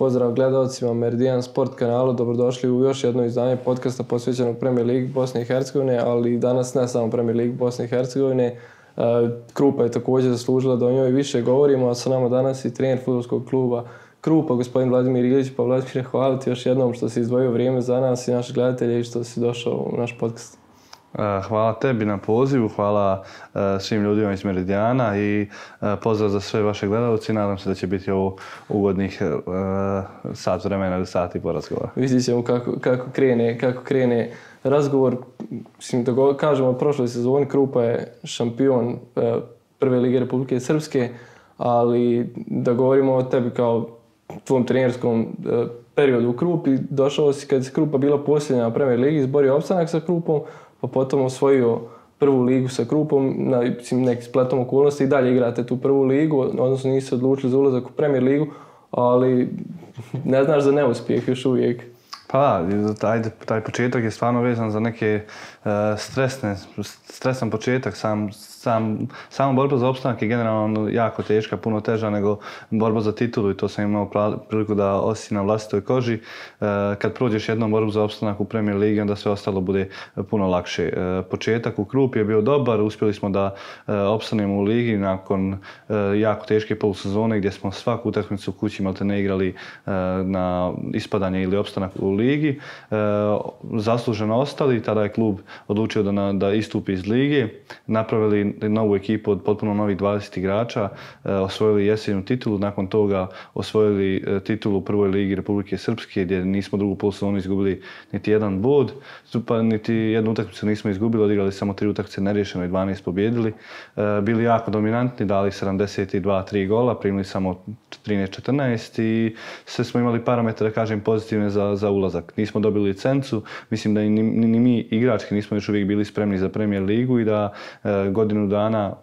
Pozdrav gledalcima Meridian Sport kanalu, dobrodošli u još jedno izdanje podcasta posvećenog Premier Ligi Bosne i Hercegovine, ali danas ne samo Premier Ligi Bosne i Hercegovine. Krupa je također zaslužila da o njoj više govorimo, a sa nama danas i trener fudbalskog kluba Krupa, gospodin Vladimir Ilić. Pa Vladimir, hvala ti još jednom što si izdvojio vrijeme za nas i naše gledatelje i što si došao u naš podcast. Hvala tebi na pozivu, hvala svim ljudima iz Meridijana i pozdrav za sve vaše gledalce. Nadam se da će biti ovo ugodnih sat vremena ili sat i po razgovora. Vidjet ćemo kako krene razgovor. Mislim da kažemo od prošloj sezoni, Krupa je šampion Prve lige Republike Srpske, ali da govorimo o tebi kao tvom trenerskom periodu u Krupi, došao si kad je Krupa bila posljednja na Premier ligi, izborio opstanak sa Krupom, pa potom osvojio prvu ligu sa Krupom, na nekim spletom okolnosti i dalje igrate tu prvu ligu, odnosno nisi se odlučili za ulazak u Premier ligu, ali ne znaš za neuspjeh još uvijek. Pa taj početak je stvarno vezan za neke stresan početak. Sama borba za opstanak je generalno jako teška, puno teža nego borba za titulu i to sam imao priliku da osjetim na vlastitoj koži. Kad prođeš jednom borbu za opstanak u Premier ligi, onda sve ostalo bude puno lakše. Početak u Krupi je bio dobar, uspjeli smo da opstanemo u ligi nakon jako teške polusezone gdje smo svaku utakmicu u kući maltene igrali na ispadanje ili opstanak u ligi. Zasluženo ostali, tada je klub odlučio da istupi iz lige, napravili novu ekipu od potpuno novih 20 igrača, osvojili jesenju titulu, nakon toga osvojili titulu u Prvoj ligi Republike Srpske gdje nismo drugu polusezonu izgubili niti jedan bod, pa niti jednu utakmicu nismo izgubili, odigrali samo 3 utakmice neriješeno i 12 pobjedili. Bili jako dominantni, dali 72-3 gola, primili samo 13-14 i sve smo imali parametre, da kažem, pozitivne za ulazak. Nismo dobili licencu, mislim da ni mi igrački nismo još uvijek bili spremni za Premier ligu i da godinu dana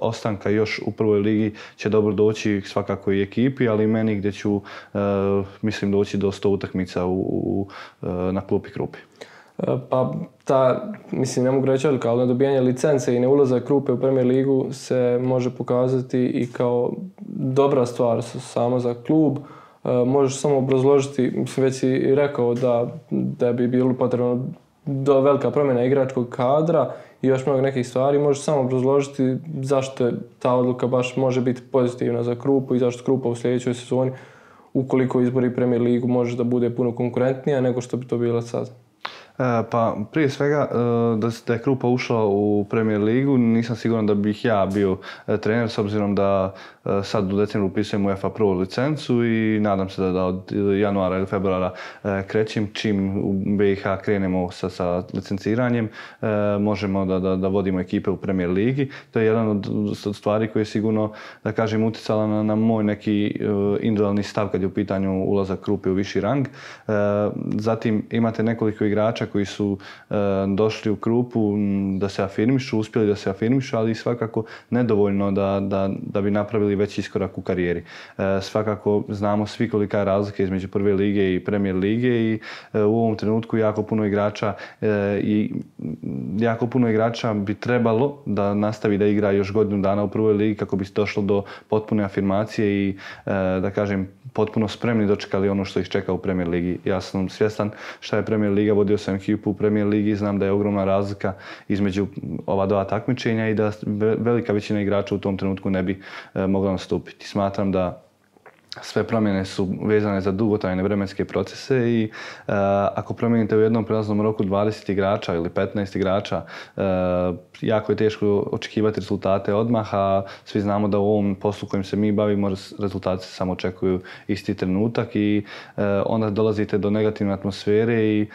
ostanka još u Prvoj ligi će dobro doći svakako i ekipi, ali i meni gdje ću, mislim, doći do 100 utakmica na klupi Krupi. Pa mislim, ne mogu reći odluka, ali nedobijanje licence i neulazak Krupe u Premier ligu se može pokazati i kao dobra stvar samo za klub. Možeš samo obrazložiti, mislim, već si rekao da bi bilo potrebno velika promjena igračkog kadra i još mnogo nekih stvari. Možeš samo obrazložiti zašto ta odluka baš može biti pozitivna za Krupu i zašto Krupa u sljedećoj sezoni, ukoliko izbori Premier ligu, može da bude puno konkurentnija nego što bi to bilo sad. Pa prije svega da je Krupa ušla u Premier ligu, nisam siguran da bih ja bio trener s obzirom da sad u decembru upisujem UEFA Pro licencu i nadam se da od januara ili februara krećem. Čim u BiH krenemo sa licenciranjem, možemo da vodimo ekipe u Premier ligi. To je jedan od stvari koje je sigurno, da kažem, utjecala na moj neki individualni stav kad je u pitanju ulazak Krupe u viši rang. Zatim imate nekoliko igrača koji su došli u Krupu da se afirmišu, uspjeli da se afirmišu, ali svakako nedovoljno da bi napravili veći iskorak u karijeri. Svakako znamo svi kolika je razlika između Prve lige i Premier lige i u ovom trenutku jako puno igrača bi trebalo da nastavi da igra još godinu dana u Prvoj ligi kako bi došlo do potpune afirmacije i, da kažem, potpuno spremni dočekali ono što ih čeka u Premier ligi. Ja sam svjestan šta je Premier liga, vodio sam ekipu u Premier ligi, znam da je ogromna razlika između ova dva takmičenja i da velika većina igrača u tom trenutku ne bi mogla nastupiti. Smatram da sve promjene su vezane za dugotrajne vremenske procese i ako promijenite u jednom prelaznom roku 20 igrača ili 15 igrača, jako je teško očekivati rezultate odmah, a svi znamo da u ovom poslu kojim se mi bavimo rezultati se samo očekuju isti trenutak i onda dolazite do negativne atmosfere i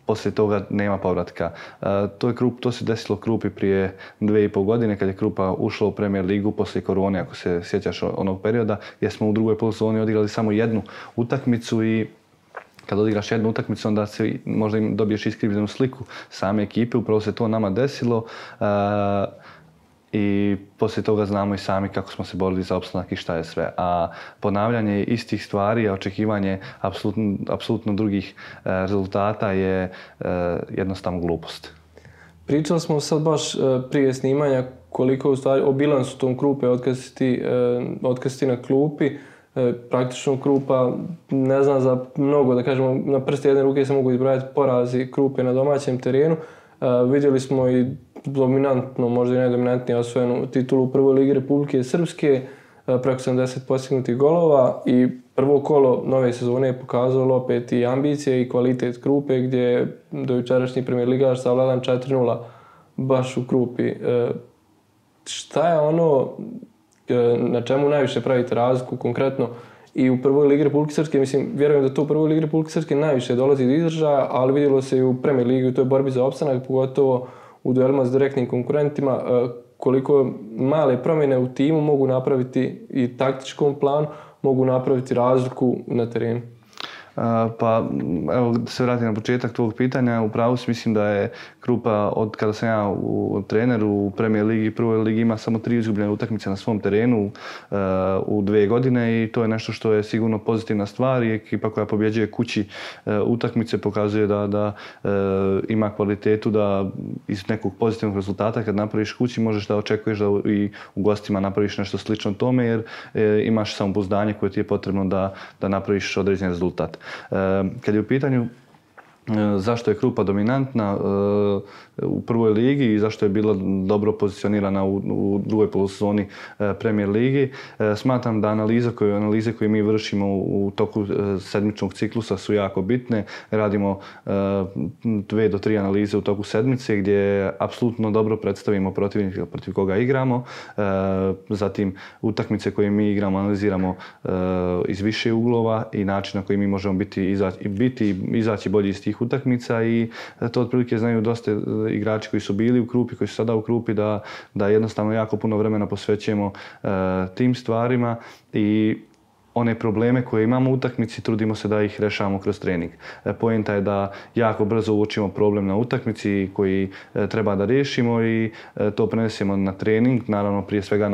poslije toga nema povratka. To se desilo Krupi prije 2,5 godine kad je Krupa ušla u Premier ligu poslije korone, ako se sjećaš onog perioda, gdje smo u drugoj polusezoni odigrali samo jednu utakmicu i kad odigraš jednu utakmicu onda možda dobiješ iskrivljenu sliku same ekipe, upravo se to nama desilo. I poslije toga znamo i sami kako smo se borili za opstanak i šta je sve. A ponavljanje istih stvari, a očekivanje apsolutno drugih rezultata je jednostavno glupost. Pričali smo sad baš prije snimanja koliko u stvari o bilansu tom Krupe od kad si ti na klupi. Praktično Krupa ne znam za mnogo, da kažemo, na prste jedne ruke se mogu izbrojati porazi Krupe na domaćem terenu. Vidjeli smo i dominantno, možda i najdominantnije osvojenu titulu u prvoj ligi Republike Srpske, preko 70 postignutih golova i prvo kolo nove sezone je pokazalo opet i ambicije i kvalitet Krupe gdje je dojučerašnji premijer ligaš savladan 4-0 baš u Krupi. Šta je ono na čemu najviše pravite razliku konkretno i u prvoj ligi Republike Srpske? Mislim, vjerujem da to u prvoj ligi Republike Srpske najviše dolazi do izražaja, ali vidjelo se i u Premier ligi u toj borbi za opstanak, pogotovo u duelima s direktnim konkurentima, koliko male promjene u timu mogu napraviti i taktičkom planu, mogu napraviti razliku na terenu. Pa evo da se vratim na početak tvog pitanja, upravo mislim da je Krupa od kada sam ja trener u Premier ligi i prvoj ligi ima samo 3 izgubljene utakmice na svom terenu u 2 godine i to je nešto što je sigurno pozitivna stvar i ekipa koja pobjeđuje kući utakmice pokazuje da ima kvalitetu da iz nekog pozitivnog rezultata kad napraviš kući možeš da očekuješ da i u gostima napraviš nešto slično tome jer imaš samopouzdanje koje ti je potrebno da napraviš određen rezultat. Kad je u pitanju zašto je Krupa dominantna u prvoj ligi i zašto je bila dobro pozicionirana u drugoj polusezoni Premier ligi, smatram da analize koje mi vršimo u toku sedmičnog ciklusa su jako bitne. Radimo 2 do 3 analize u toku sedmice gdje apsolutno dobro predstavimo protivnika protiv koga igramo. Zatim utakmice koje mi igramo analiziramo iz više uglova i način na koji mi možemo izaći bolji iz tih utakmica i to otprilike znaju dosta igrači koji su bili u Krupi, koji su sada u Krupi, da jednostavno jako puno vremena posvećujemo tim stvarima i one probleme koje imamo u utakmici trudimo se da ih rešavamo kroz trening. Poenta je da jako brzo uočimo problem na utakmici koji treba da riješimo i to prenesemo na trening, naravno prije svega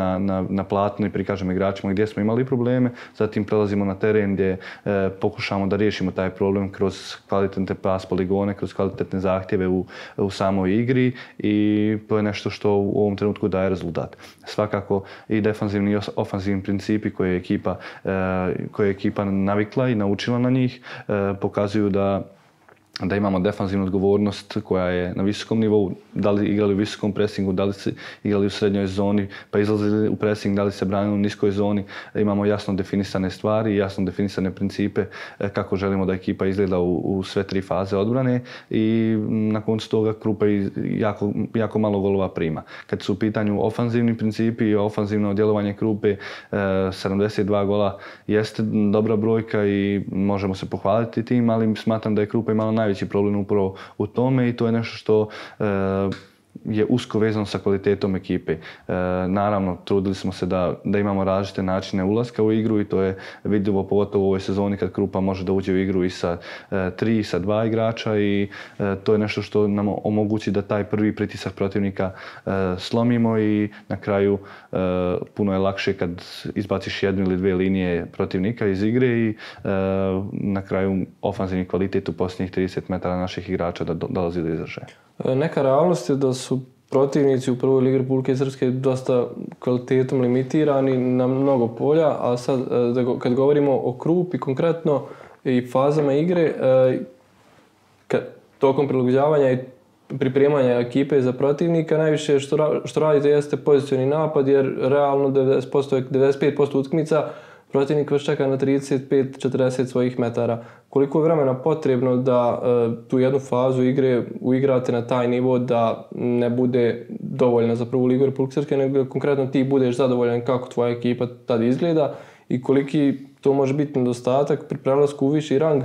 na platno i prikažemo igračima gdje smo imali probleme, zatim prelazimo na teren gdje pokušamo da riješimo taj problem kroz kvalitetne pas poligone, kroz kvalitetne zahtjeve u samoj igri i to je nešto što u ovom trenutku daje rezultat. Svakako i defanzivni i ofanzivni principi koje je ekipa navikla i naučila na njih, pokazuju da imamo defanzivnu odgovornost koja je na visokom nivou, da li igrali u visokom presingu, da li se igrali u srednjoj zoni, pa izlazili u presing, da li se branili u niskoj zoni. Imamo jasno definisane stvari, jasno definisane principe kako želimo da ekipa izgleda u sve 3 faze odbrane i na koncu toga Krupa jako malo golova prima. Kad su u pitanju ofanzivni principi i ofanzivno djelovanje Krupe, 72 gola jeste dobra brojka i možemo se pohvaliti tim, ali smatram da je Krupa imala najveći problem upravo u tome i to je nešto što je usko vezano sa kvalitetom ekipe. Naravno, trudili smo se da imamo različite načine ulaska u igru i to je vidljivo pogotovo u ovoj sezoni kad Krupa može da uđe u igru i sa 3 i sa 2 igrača i to je nešto što nam omogući da taj prvi pritisak protivnika slomimo i na kraju puno je lakše kad izbaciš 1 ili 2 linije protivnika iz igre i na kraju ofanzivni kvalitet u posljednjih 30 metara naših igrača da dolazi do izražaja. Neka realnost je da su protivnici u prvoj ligi Republike Srpske dosta kvalitetom limitirani na mnogo polja, a sad kad govorimo o Krupi konkretno i fazama igre, tokom prilagođavanja i pripremanja ekipe za protivnika, najviše što radite jeste pozicioni napad jer realno 95% utakmica protivnik vas čeka na 35-40 svojih metara. Koliko je vremena potrebno da tu jednu fazu igre uigrate na taj nivo da ne bude dovoljna za prvu ligu Republike Srpske, nego konkretno ti budeš zadovoljan kako tvoja ekipa tada izgleda i koliki to može biti nedostatak pri prelasku u viši rang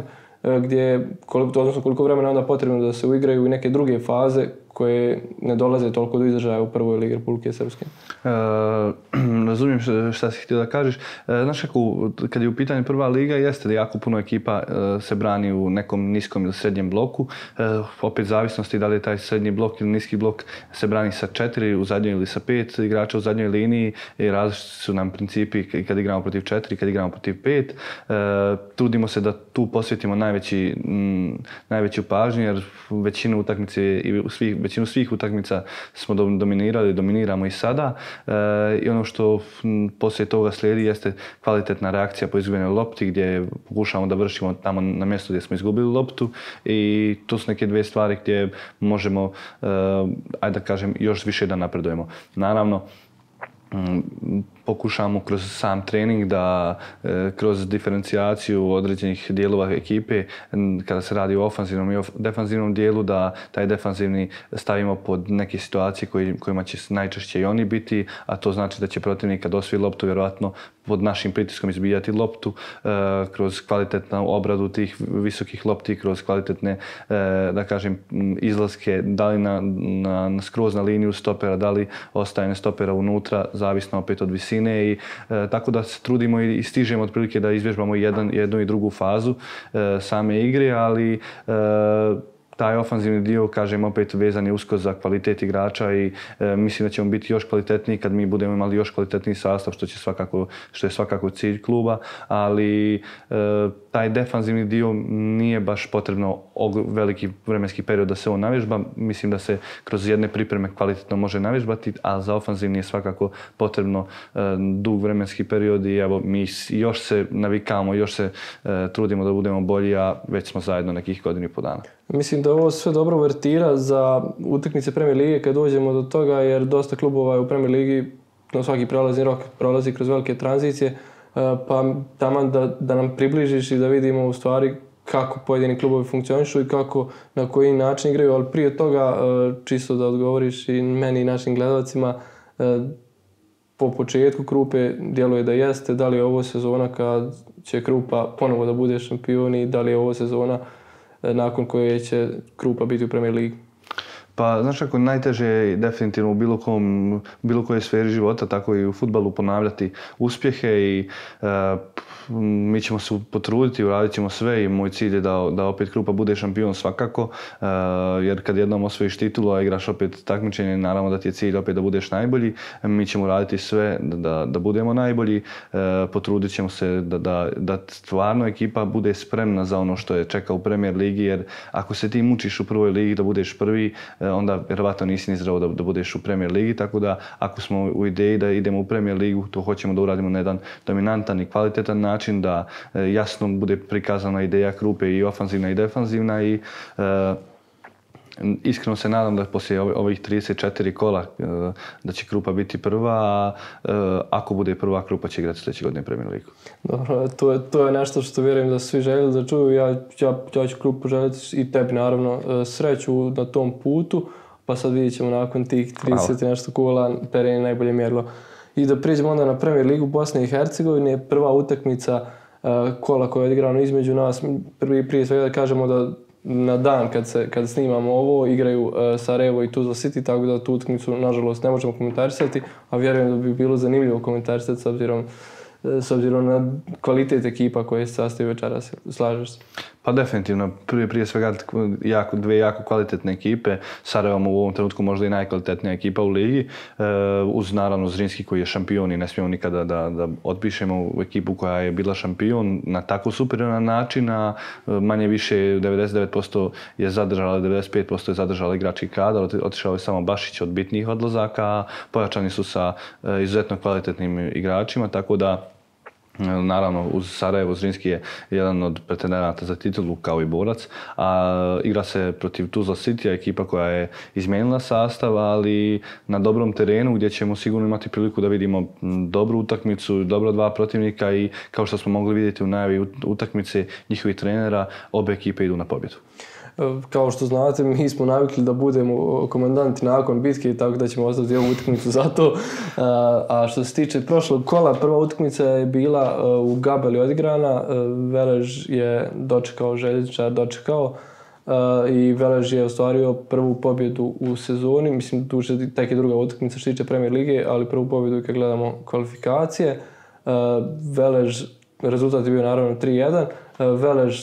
odnosno koliko vremena onda potrebno da se uigraju i neke druge faze koje ne dolaze toliko do izražaja u prvoj ligi Republike Srpske. Razumijem šta si htio da kažeš. Znaš kako, kad je u pitanju prva liga, jeste da jako puno ekipa se brani u nekom niskom ili srednjem bloku. Opet zavisnosti da li je taj srednji blok ili niski blok se brani sa 4 u zadnjoj ili sa 5 igrača u zadnjoj liniji i različiti su nam principi kad igramo protiv 4 i kad igramo protiv 5. Trudimo se da tu posvetimo najveću pažnju jer većinu svih utakmica smo dominirali, dominiramo i sada. I ono što poslije toga slijedi jeste kvalitetna reakcija po izgubljenoj lopti gdje pokušavamo da vršimo tamo na mjestu gdje smo izgubili loptu i to su neke dvije stvari gdje možemo, ajde da kažem, još više da napredujemo. Naravno, pokušamo kroz sam trening da kroz diferencijaciju određenih dijelova ekipe, kada se radi o ofanzivnom i defanzivnom dijelu, da taj defanzivni stavimo pod neke situacije kojima će najčešće i oni biti, a to znači da će protivnik kad osvoji loptu vjerojatno pod našim pritiskom izbijati loptu kroz kvalitetnu obradu tih visokih lopti, kroz kvalitetne, da kažem, izlaske, da li skroz na liniju stopera, da li ostajanje stopera unutra, zavisno opet od visine i tako da se trudimo i stižemo otprilike da izvježbamo jednu i drugu fazu same igre, ali taj ofanzivni dio, kažem, opet vezan je usko za kvalitet igrača i mislim da ćemo biti još kvalitetniji kad mi budemo imali još kvalitetniji sastav, što je svakako cilj kluba, ali taj defanzivni dio nije baš potrebno veliki vremenski period da se on navježba. Mislim da se kroz jedne pripreme kvalitetno može navježbati, a za ofanzivni je svakako potrebno dug vremenski period i evo, mi još se navikamo, još se trudimo da budemo bolji, a već smo zajedno nekih godinu i po dana. Mislim da ovo sve dobro vertira za utakmice Premier lige kad dođemo do toga, jer dosta klubova je u Premier ligi na svaki prelazni rok prolazi kroz velike tranzicije, pa taman da nam približiš i da vidimo u stvari kako pojedini klubovi funkcionišu i kako, na koji način igraju, ali prije toga čisto da odgovoriš i meni i našim gledalcima, po početku Krupe djeluje da jeste, da li je ovo sezona kad će Krupa ponovo da bude šampion i da li je ovo sezona nakon koje će Krupa biti u Premier ligi? Pa, znaš kako, najteže je definitivno u bilo kojoj sferi života, tako i u fudbalu ponavljati uspjehe i mi ćemo se potruditi, uradit ćemo sve i moj cilj je da opet Krupa bude šampion svakako, jer kad jednom osvojiš titulu, a igraš opet takmičenje, naravno da ti je cilj opet da budeš najbolji. Mi ćemo raditi sve da budemo najbolji, potrudit ćemo se da stvarno ekipa bude spremna za ono što je čeka u Premier ligi, jer ako se ti mučiš u prvoj ligi da budeš prvi, onda vjerovatno nisi ni zdravo da budeš u Premier ligi, tako da ako smo u ideji da idemo u Premier ligu, to hoćemo da uradimo na jedan dominantan i kvalitetan način, da jasno bude prikazana ideja Krupe i ofanzivna i defanzivna i iskreno se nadam da poslije ovih 34 kola da će Krupa biti prva, a ako bude prva, Krupa će igrati sljedeće godine Premier ligu. Dobro, to je nešto što vjerujem da svi željeli da čuju. Ja ću Krupu željeti i tebi naravno sreću na tom putu, pa sad vidjet ćemo nakon tih 30 nešto kola teren najbolje mjerilo. I da prijeđemo onda na Premier ligu Bosne i Hercegovine, prva utakmica kola koja je odigrana između nas. Prije svega da kažemo da na dan kad snimamo ovo igraju Sarajevo i Tuzla City, tako da tu utakmicu nažalost ne možemo komentarisati, a vjerujem da bi bilo zanimljivo komentarisati s obzirom na kvalitet ekipa koje se sastoji večeras. Slažeš se? Pa definitivno, prije svega dvije jako kvalitetne ekipe. Sarajevo u ovom trenutku možda i najkvalitetnija ekipa u ligi, uz naravno Zrinski koji je šampion i ne smijemo nikada da otpišemo u ekipu koja je bila šampion na tako superioran način, a manje više 99% je zadržala, 95% je zadržala igrački kadar, otišao je samo Bašić od bitnijih odlazaka, a pojačani su sa izuzetno kvalitetnim igračima, tako da naravno, uz Sarajevo Zrinski je jedan od pretendenata za titulu kao i borac, a igra se protiv Tuzla City, ekipa koja je izmijenila sastav, ali na dobrom terenu gdje ćemo sigurno imati priliku da vidimo dobru utakmicu, dobra dva protivnika i kao što smo mogli vidjeti u najavi utakmice njihovih trenera, obe ekipe idu na pobjedu. Kao što znate, mi smo navikli da budemo komandanti nakon bitke, tako da ćemo ostaviti ovu utakmicu za to. A što se tiče prošlog kola, prva utakmica je bila u Gabeli odigrana. Velež je dočekao, Željezničar dočekao i Velež je ostvario prvu pobjedu u sezoni. Mislim, duže tek je druga utakmica što se tiče Premier lige, ali prvu pobjedu kad gledamo kvalifikacije. Velež, rezultat je bio naravno 3-1. Velež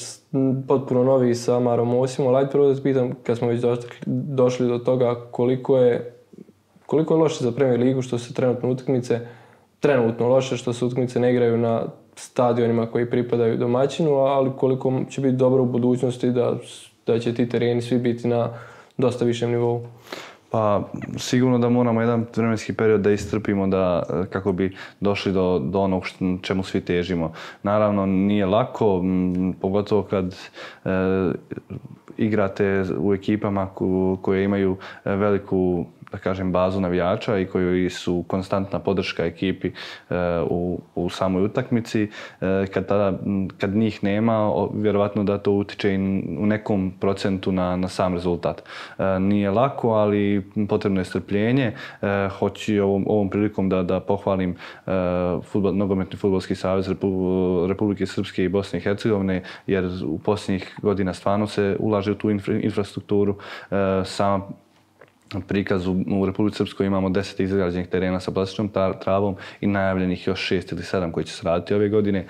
potpuno novi sa Marom Osimom, ali ajde prvo da se pitam, kad smo već došli do toga, koliko je loše za Premier ligu što se trenutno loše što se utakmice ne igraju na stadionima koji pripadaju domaćinu, ali koliko će biti dobro u budućnosti da će ti tereni svi biti na dosta višem nivou. Pa sigurno da moramo jedan vremenski period da istrpimo kako bi došli do onog čemu svi težimo. Naravno nije lako, pogotovo kad igrate u ekipama koje imaju veliku, da kažem, bazu navijača i koji su konstantna podrška ekipi u samoj utakmici. Kad njih nema, vjerovatno da to utiče i u nekom procentu na sam rezultat. Nije lako, ali potrebno je strpljenje. Hoću ovom prilikom da pohvalim Nogometni fudbalski savez Republike Srpske i Bosne i Hercegovine, jer u posljednjih godina stvarno se ulaže u tu infrastrukturu. Sama prikaz u Republici Srpskoj imamo 10 izgrađenih terena sa plastičnom travom i najavljenih još 6 ili 7 koji će se raditi ove godine.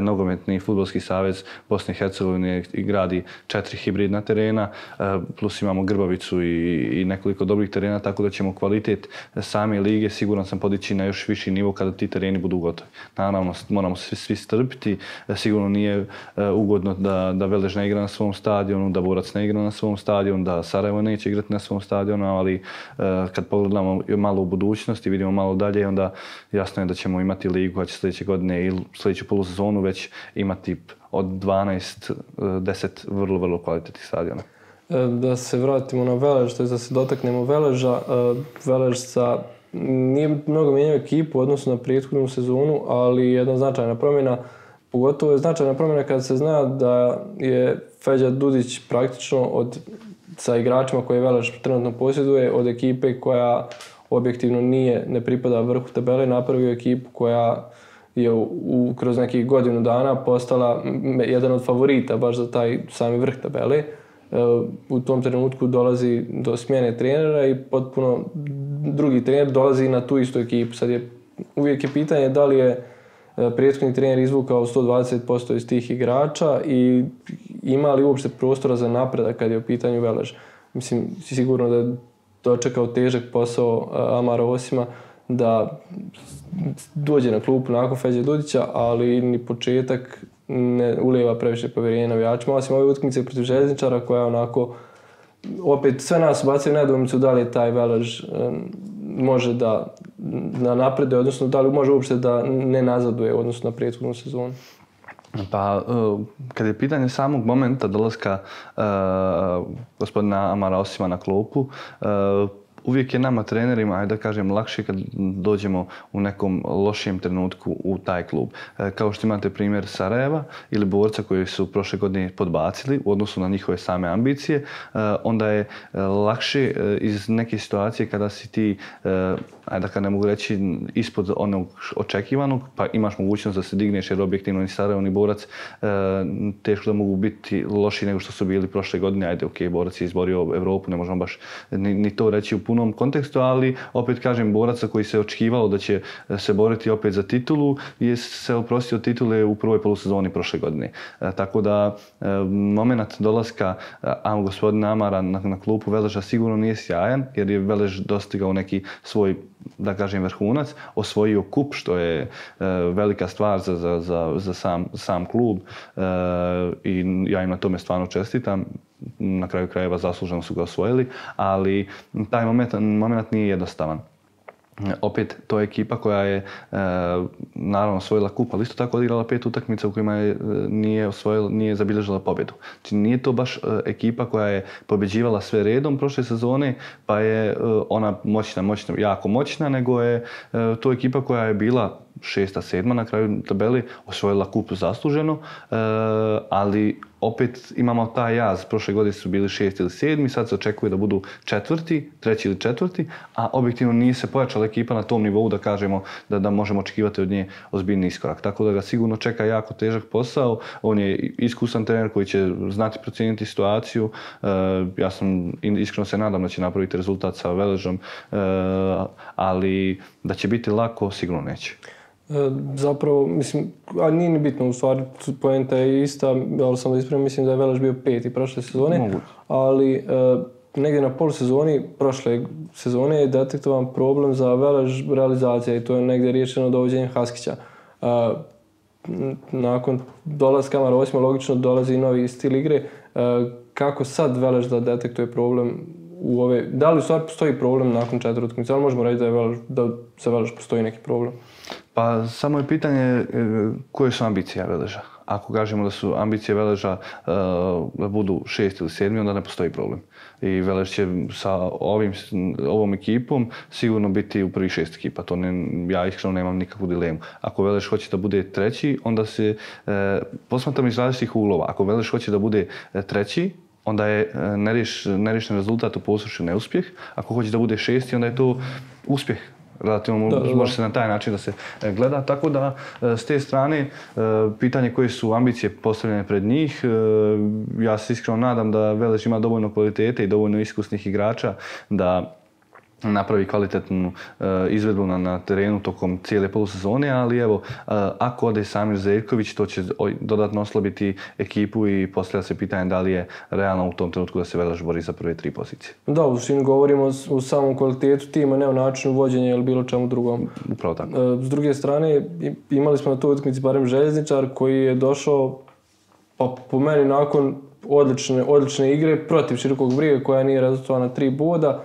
Nogometni fudbalski savez Bosne i Hercegovine gradi 4 hibridna terena, plus imamo Grbavicu i nekoliko dobrih terena, tako da ćemo kvalitet same lige siguran sam podići na još viši nivo kada ti tereni budu gotovi. Naravno, moramo se svi strpiti, sigurno nije ugodno da Velež ne igra na svom stadionu, da Borac ne igra na svom stadionu, da Sarajevo neće igrati na svom stadionu, ali kad pogledamo malo u budućnost i vidimo malo dalje, onda jasno je da ćemo imati ligu koja će sljedeće godine ili sljedeću polusezonu već imati od 10 vrlo, vrlo kvalitetnih stadiona. Da se vratimo na Velež, to je da se dotaknemo Veleža. Velež nije mnogo mijenjao ekipu u odnosu na prethodnu sezonu, ali jedna značajna promjena, pogotovo je značajna promjena kada se zna da je Feđa Dudić praktično sa igračima koje Velež trenutno posjeduje, od ekipe koja objektivno ne pripada vrhu tabele, napravio ekipu koja je kroz nekih godinu dana postala jedan od favorita baš za taj sami vrh tabele. U tom trenutku dolazi do smjene trenera i potpuno drugi trener dolazi na tu istu ekipu. Uvijek je pitanje da li je prethodni trener izvukao 120% iz tih igrača i ima li uopšte prostora za napredak kad je u pitanju Velež. Mislim, sigurno da je dočekao težak posao Amara Osima da dođe na klupu nakon Feđe Dudića, ali ni početak ne ulijeva previše povjerenja navijačima, osim ove utakmice protiv Željezničara koja onako opet sve nas ubacuje nedoumicu da li je taj Velež može da napreduje, odnosno da li može uopšte da ne nazaduje u odnosu na prethodnu sezonu. Pa, kad je pitanje samog momenta dolaska gospodina Amara Osima na klupu, uvijek je nama trenerima, ajde da kažem, lakše kad dođemo u nekom lošijem trenutku u taj klub. Kao što imate primjer Sarajeva ili Borca koji su prošle godine podbacili u odnosu na njihove same ambicije, onda je lakše iz neke situacije kada si ti, ajde da ne mogu reći, ispod onog očekivanog, pa imaš mogućnost da se digneš jer objektivno ni Sarajevo ni Borac teško da mogu biti loši nego što su bili prošle godine. Ajde, ok, Borac je izborio Evropu, ne možemo baš ni to reći u punom kontekstu, ali opet kažem, Boraca koji se očekivalo da će se boriti opet za titulu je se oprostio titule u prvoj polusezoni prošle godine. Tako da moment dolaska gospodina Amara na klupu Veleža sigurno nije sjajan jer je Velež dostigao neki svoj, da kažem, vrhunac, osvojio kup što je velika stvar za sam klub i ja im na tome stvarno čestitam. Na kraju krajeva zasluženo su ga osvojili, ali taj moment nije jednostavan. Opet, to je ekipa koja je naravno osvojila kup, ali isto tako odigrala 5 utakmica u kojima nije zabilježila pobjedu. Znači, nije to baš ekipa koja je pobjeđivala sve redom prošle sezone, pa je ona jako moćna, nego je to ekipa koja je bila 6., 7. na kraju tabeli, osvojila kup zasluženo, ali opet imamo taj jaz. Prošle godine su bili 6. ili 7. Sad se očekuje da budu 4., 3. ili 4., a objektivno nije se pojačala ekipa na tom nivou da kažemo da možemo očekivati od nje ozbiljni iskorak. Tako da ga sigurno čeka jako težak posao. On je iskusan trener koji će znati procijeniti situaciju. Ja iskreno se nadam da će napraviti rezultat sa Veležom, ali da će biti lako, sigurno neće. Zapravo, mislim, a nije ni bitno, u stvari poenta je ista, ali sam da ispravim, mislim da je Velež bio 5. prošle sezone, ali negdje na polusezoni prošle sezone je detektovan problem za Velež realizacija i to je negdje riješeno dovođenjem Haskića. Nakon dolaska Amara Osima logično dolazi i novi stil igre. Kako sad Velež da detektuje problem u ove... Da li u stvari postoji problem nakon 4 utakmice? Ali možemo reći da za Veleš postoji neki problem? Pa samo je pitanje koje su ambicije Veleža. Ako kažemo da su ambicije Veleža da budu 6 ili 7, onda ne postoji problem. I Velež će sa ovom ekipom sigurno biti u prvih 6 ekipa. To ja iskreno nemam nikakvu dilemu. Ako Velež hoće da bude 3, onda se posmatram iz različitih uglova. Ako Velež hoće da bude 3, onda je nerešen rezultat u Posušju neuspjeh. Ako hoće da bude 6, onda je to uspjeh. Relativno može se na taj način da se gleda, tako da s te strane pitanje koje su ambicije postavljene pred njih, ja se iskreno nadam da Veleš ima dovoljno kvalitete i dovoljno iskusnih igrača da napravi kvalitetnu izvedbu na terenu tokom cijele polusezone, ali evo, ako ode Samir Zeljković, to će dodatno oslabiti ekipu i postavlja se pitanje da li je realno u tom trenutku da se Veleš bori za prve 3 pozicije. Da, u suštini govorimo o samom kvalitetu tima, ne o načinu vođenja ili bilo čemu drugom. Upravo tako. S druge strane, imali smo na toj utakmici barem Željezničar koji je došao, pa po meni nakon odlične igre protiv Širokog Brijega koja nije rezultovala na 3 boda.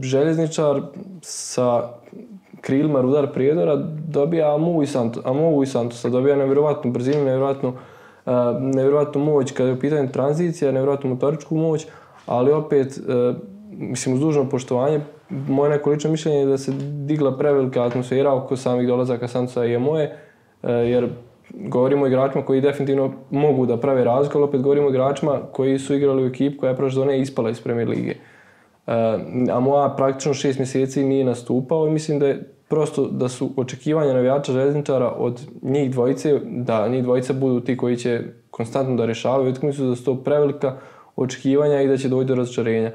Željezničar sa krilima Rudar Prijedora dobija Amovu i Santosa, dobija nevjerovatnu brzinu, nevjerovatnu moć kada je u pitanju tranzicija, nevjerovatnu motoričku moć, ali opet, mislim, uz dužno poštovanje, moje neko lično mišljenje je da se digla prevelika atmosfera oko samih dolazaka Santosa i Amoje, jer govorimo o igračima koji definitivno mogu da prave razliku, ali opet govorimo o igračima koji su igrali u ekipu koja je prošle sezone ispala iz Premier lige. Amoa praktično 6 mjeseci nije nastupao i mislim da je prosto da su očekivanja navijača Željezničara od njih dvojice, da njih dvojica budu ti koji će konstantno da rješavaju utakmicu, da su to prevelika očekivanja i da će doći do razočarenja.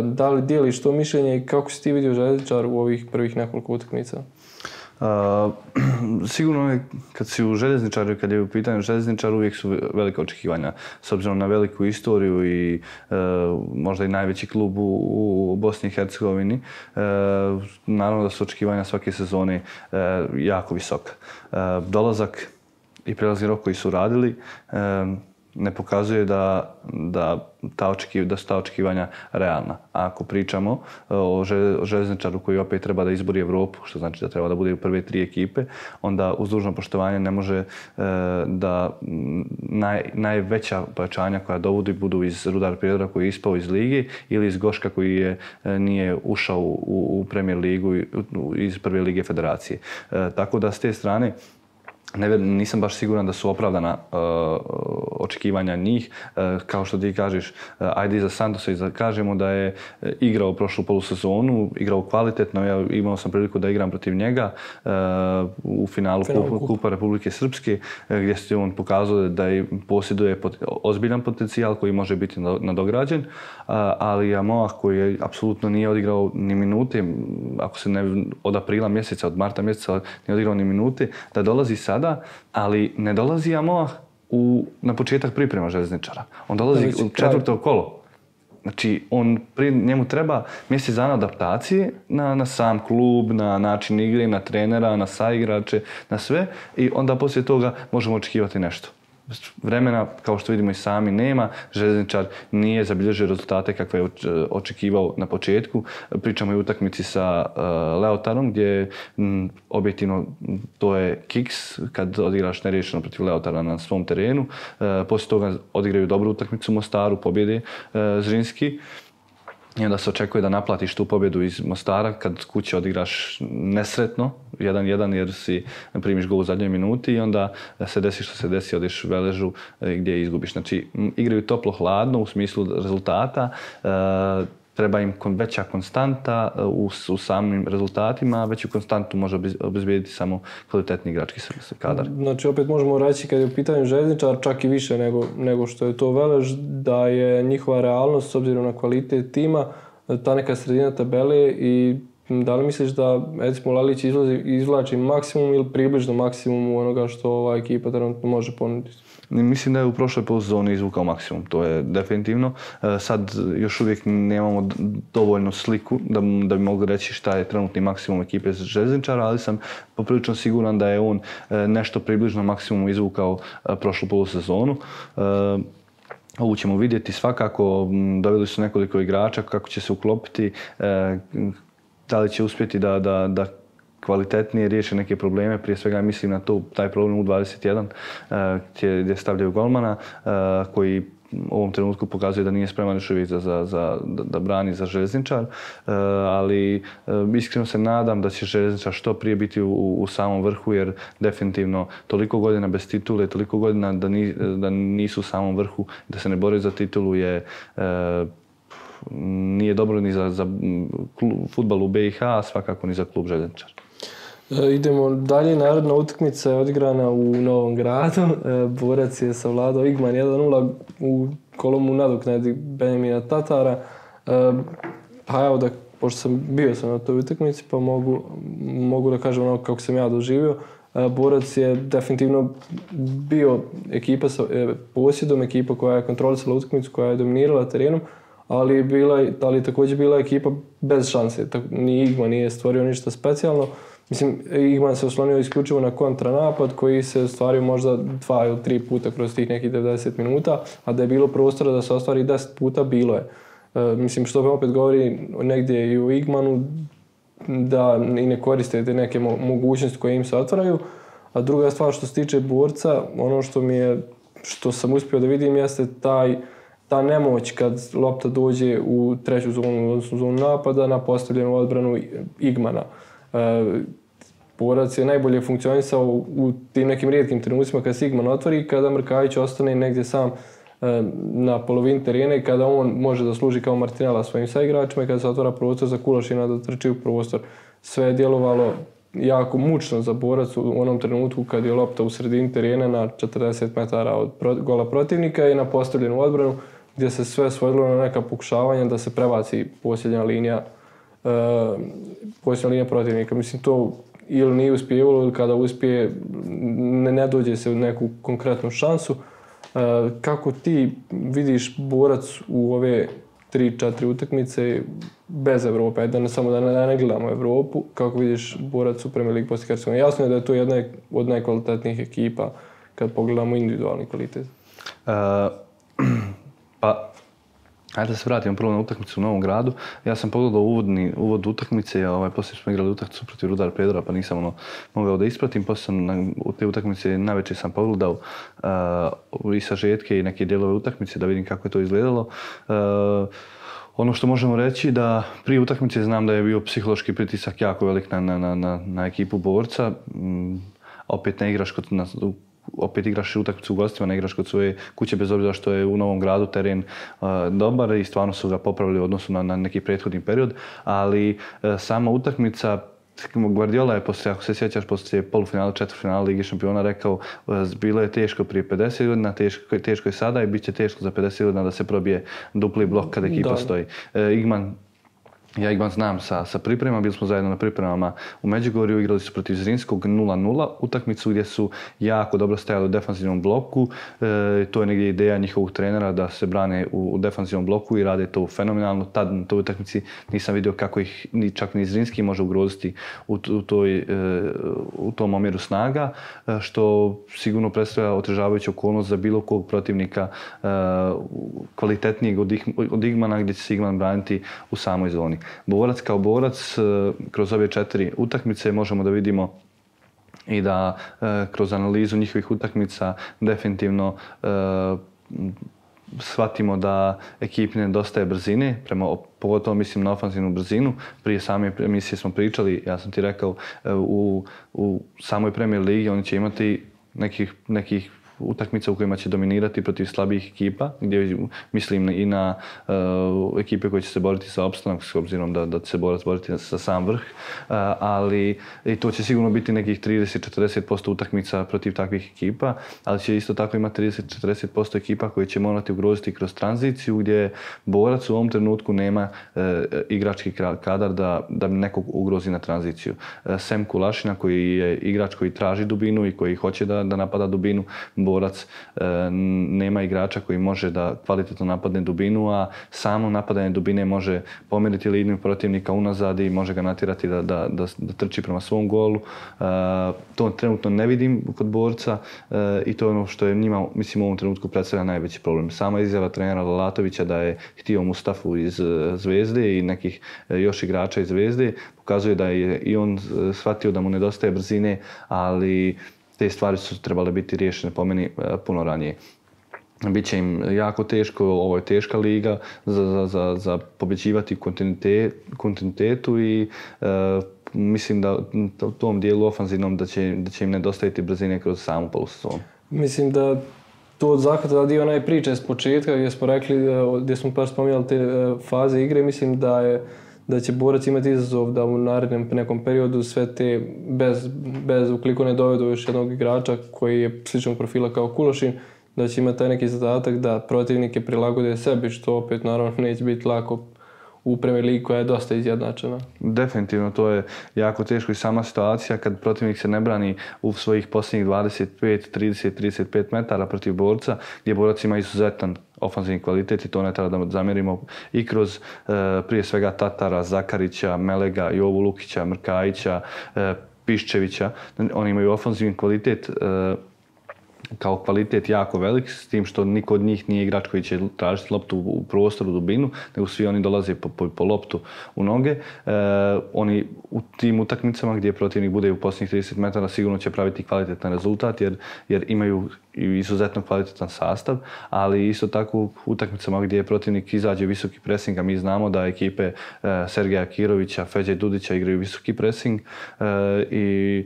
Da li dijeliš to mišljenje i kako si ti vidio Željezničar u ovih prvih nekoliko utakmica? Sigurno je kad si u Željezničaru, kad je u pitanju Željezničar, uvijek su velika očekivanja. S obzirom na veliku istoriju i možda i najveći klub u Bosni i Hercegovini, naravno da su očekivanja svake sezone jako visoka. Dolazak i prelazni rok koji su radili ne pokazuje da su ta očekivanja realna. A ako pričamo o Željezničaru koji opet treba da izbori Evropu, što znači da treba da bude u prve 3 ekipe, onda uz dužno poštovanje ne može da najveća pojačanja koja dovodi budu iz Rudar Prijedora koji je ispao iz lige ili iz Goška koji nije ušao u Premier ligu iz prve lige federacije. Tako da s te strane nisam baš siguran da su opravdana očekivanja njih. Kao što ti kažeš, ajde iza Santosa i kažemo da je igrao prošlu polusezonu, igrao kvalitetno, ja imao sam priliku da igram protiv njega u finalu Kupa Republike Srpske, gdje se on pokazao da posjeduje ozbiljan potencijal koji može biti nadograđen, ali Amoah koji apsolutno nije odigrao ni minute, ako se ne od aprila mjeseca, od marta mjeseca nije odigrao ni minute, da dolazi sada, ali ne dolazi Amoah na početak priprema Željezničara. On dolazi u 4. kolo. Znači, njemu treba mjesec dana adaptacije na sam klub, na način igre, na trenera, na saigrače, na sve i onda poslije toga možemo očekivati nešto. Vremena, kao što vidimo i sami, nema. Željezničar nije zabilježio rezultate kakve je očekivao na početku. Pričamo i o utakmici sa Leotarom, gdje objektivno to je kiks kad odigraš neriješeno protiv Leotara na svom terenu. Poslije toga odigraju dobru utakmicu u Mostaru, pobjede Zrinski. I onda se očekuje da naplatiš tu pobjedu iz Mostara kad kuće odigraš nesretno, 1-1 jer si primiš gol u zadnjoj minuti i onda se desi što se desi, odeš Veležu gdje izgubiš. Znači, igraju toplo-hladno u smislu rezultata, treba im veća konstanta u samim rezultatima, a veću konstantu može obezbijediti samo kvalitetni igrački kadar. Znači, opet možemo reći kad je u pitanju Željezničar, čak i više nego što je to Velež, da je njihova realnost s obzirom na kvalitet tima, ta neka sredina tabele i da li misliš da recimo Lalić izvlači maksimum ili približno maksimum onoga što ova ekipa trenutno može ponuditi? Mislim da je u prošloj polusezoni izvukao maksimum, to je definitivno. Sad još uvijek nemamo dovoljnu sliku da bi mogli reći šta je trenutni maksimum ekipe Željezničara, ali sam poprilično siguran da je on nešto približno maksimum izvukao prošlu polusezonu. Ovu ćemo vidjeti svakako, doveli su nekoliko igrača kako će se uklopiti, da li će uspjeti da kvalitetnije riješe neke probleme, prije svega mislim na taj problem U21 gdje stavljaju golmana koji u ovom trenutku pokazuje da nije spreman još uvijek da brani za Željezničar, ali iskreno se nadam da će Željezničar što prije biti u samom vrhu, jer definitivno toliko godina bez titule, toliko godina da nisu u samom vrhu, da se ne bore za titulu nije dobro ni za fudbal u BiH, a svakako ni za klub Željezničar. Idemo dalje, naredna utakmica je odigrana u Novom Gradu. Borac je savladao Igman 1-0 u kolomu nadoknadi Benjamina Tatara. Pa evo, pošto bio sam na toj utakmici, pa mogu da kažem ono kako sam ja doživio. Borac je definitivno bio ekipa sa posjedom, ekipa koja je kontrolisala utakmicu, koja je dominirala terenom, ali također bila ekipa bez šanse. Ni Igman nije stvorio ništa specijalno. Mislim, Igman se oslonio isključivo na kontranapad koji se ostvario možda 2 ili 3 puta kroz tih nekih 90 minuta, a da je bilo prostora da se ostvari 10 puta, bilo je. Mislim, što opet govori negdje i u Igmanu da i ne koriste te neke mogućnosti koje im se otvaraju. A druga stvar što se tiče Borca, ono što sam uspio da vidim jeste ta nemoć kad lopta dođe u treću zonu, odnosno zonu napada, na postavljenu odbranu Igmana. Borac je najbolje funkcionisao u tim nekim rijetkim trenucima kad se Igman otvori, kada Mrkajić ostane negdje sam na polovini terena i kada on može da služi kao Martinela svojim saigračima i kada se otvara prostor za Kulašina da trči u prostor. Sve je djelovalo jako mučno za Borac u onom trenutku kad je lopta u sredini terena na 40 metara od gola protivnika i na postavljenu odbranu gdje se sve svodilo na neka pokušavanja da se prebaci posljednja linija protivnika. Mislim, to ili nije uspijevalo ili kada uspije ne dođe se u neku konkretnu šansu. Kako ti vidiš Borac u ove 3-4 utakmice bez Evrope, samo da ne gledamo Evropu, kako vidiš Borac u Premier League Bosne i Hercegovine? Jasno je da je to jedna od najkvalitetnijih ekipa kad pogledamo individualni kvalitet. Pa, ajde da se vratimo prvo na utakmicu u Novom Gradu. Ja sam pogledao uvod utakmice, poslije smo igrali utakmicu protiv Rudar Pedora, pa nisam mogao da ispratim. Poslije u te utakmice navečer sam pogledao i sažetke i neke dijelove utakmice da vidim kako je to izgledalo. Ono što možemo reći da prije utakmice znam da je bio psihološki pritisak jako velik na ekipu Borca. Opet igraš utakmicu u gostima, ne igraš kod svoje kuće, bez obzira što je u Novom Gradu teren dobar i stvarno su ga popravili u odnosu na neki prethodni period, ali sama utakmica, Guardiola je poslije, ako se sjećaš, poslije polufinala, četvrtfinala Lige šampiona rekao bilo je teško prije 50 godina, teško je sada i bit će teško za 50 godina da se probije dupli blok kada ekipa stoji. Ja Igman znam sa pripremama, bili smo zajedno na pripremama u Međugorju, igrali su protiv Zrinskog 0-0, utakmicu gdje su jako dobro stajali u defanzivnom bloku. To je negdje ideja njihovog trenera da se brane u defanzivnom bloku i rade to fenomenalno. Tad na toj utakmici nisam vidio kako ih čak ni Zrinski može ugroziti u tom omjeru snaga, što sigurno predstavlja otežavajuću okolnost za bilo kog protivnika kvalitetnijeg od Igmana, gdje će se Igman braniti u samoj zoni. Borac kao Borac, kroz ove 4 utakmice možemo da vidimo i da kroz analizu njihovih utakmica definitivno shvatimo da ekipi nedostaje brzine, pogotovo mislim na ofanzivnu brzinu. Prije same emisije smo pričali, ja sam ti rekao, u samoj Premier Ligi oni će imati nekih utakmica u kojima će dominirati protiv slabijih ekipa, gdje mislim i na ekipe koje će se boriti za opstanak, s obzirom da će se Borac boriti za sam vrh, ali i to će sigurno biti nekih 30-40% utakmica protiv takvih ekipa, ali će isto tako imati 30-40% ekipa koje će morati ugroziti kroz tranziciju, gdje Borac u ovom trenutku nema igrački kadar da nekog ugrozi na tranziciju. Sem Kulašina koji je igrač koji traži dubinu i koji hoće da napada dubinu, Borac nema igrača koji može da kvalitetno napadne dubinu, a samo napadanje dubine može pomeriti liniju protivnika unazad i može ga natjerati da trči prema svom golu. To trenutno ne vidim kod Borca i to je ono što je njima, mislim, u ovom trenutku predstavlja najveći problem. Sama izjava trenera Lalatovića da je htio Mustafu iz Zvezde i nekih još igrača iz Zvezde pokazuje da je i on shvatio da mu nedostaje brzine, ali te stvari su trebale biti riješene po meni puno ranije. Biće im jako teško, ovo je teška liga za pobjeđivati kontinuitetu i mislim da u tom dijelu ofanzivnom da će im nedostajati brzine kroz samu polusezonu. Mislim da to zahvata dio onaj priče s početka gdje smo rekli, gdje smo baš spominjali te faze igre, mislim da će Borac imati izazov da u narednom nekom periodu sve te, bez ukoliko ne dovedu još jednog igrača koji je sličnog profila kao Kulošin, da će imati taj neki zadatak da protivnike prilagode sebi, što opet naravno neće biti lako u Premier Ligi koja je dosta izjednačena. Definitivno, to je jako teško i sama situacija kad protivnik se ne brani u svojih posljednjih 25, 30, 35 metara protiv Borca, gdje Borac ima izuzetan ofanzivni kvalitet i to ne treba da zamjerimo i kroz prije svega Tatara, Zakarića, Melega, Jovu Lukića, Mrkajića, Piščevića. Oni imaju ofanzivni kvalitet kao kvalitet jako velik, s tim što niko od njih nije igrač koji će tražiti loptu u prostoru, dubinu, nego svi oni dolaze po loptu u noge. Oni u tim utakmicama gdje protivnik bude u posljednjih 30 metara sigurno će praviti kvalitetan rezultat jer imaju izuzetno kvalitetan sastav, ali isto tako u utakmicama gdje protivnik izađe visoki pressing, a mi znamo da ekipe Sergeja Kirovića, Feđe Dudića igraju visoki pressing i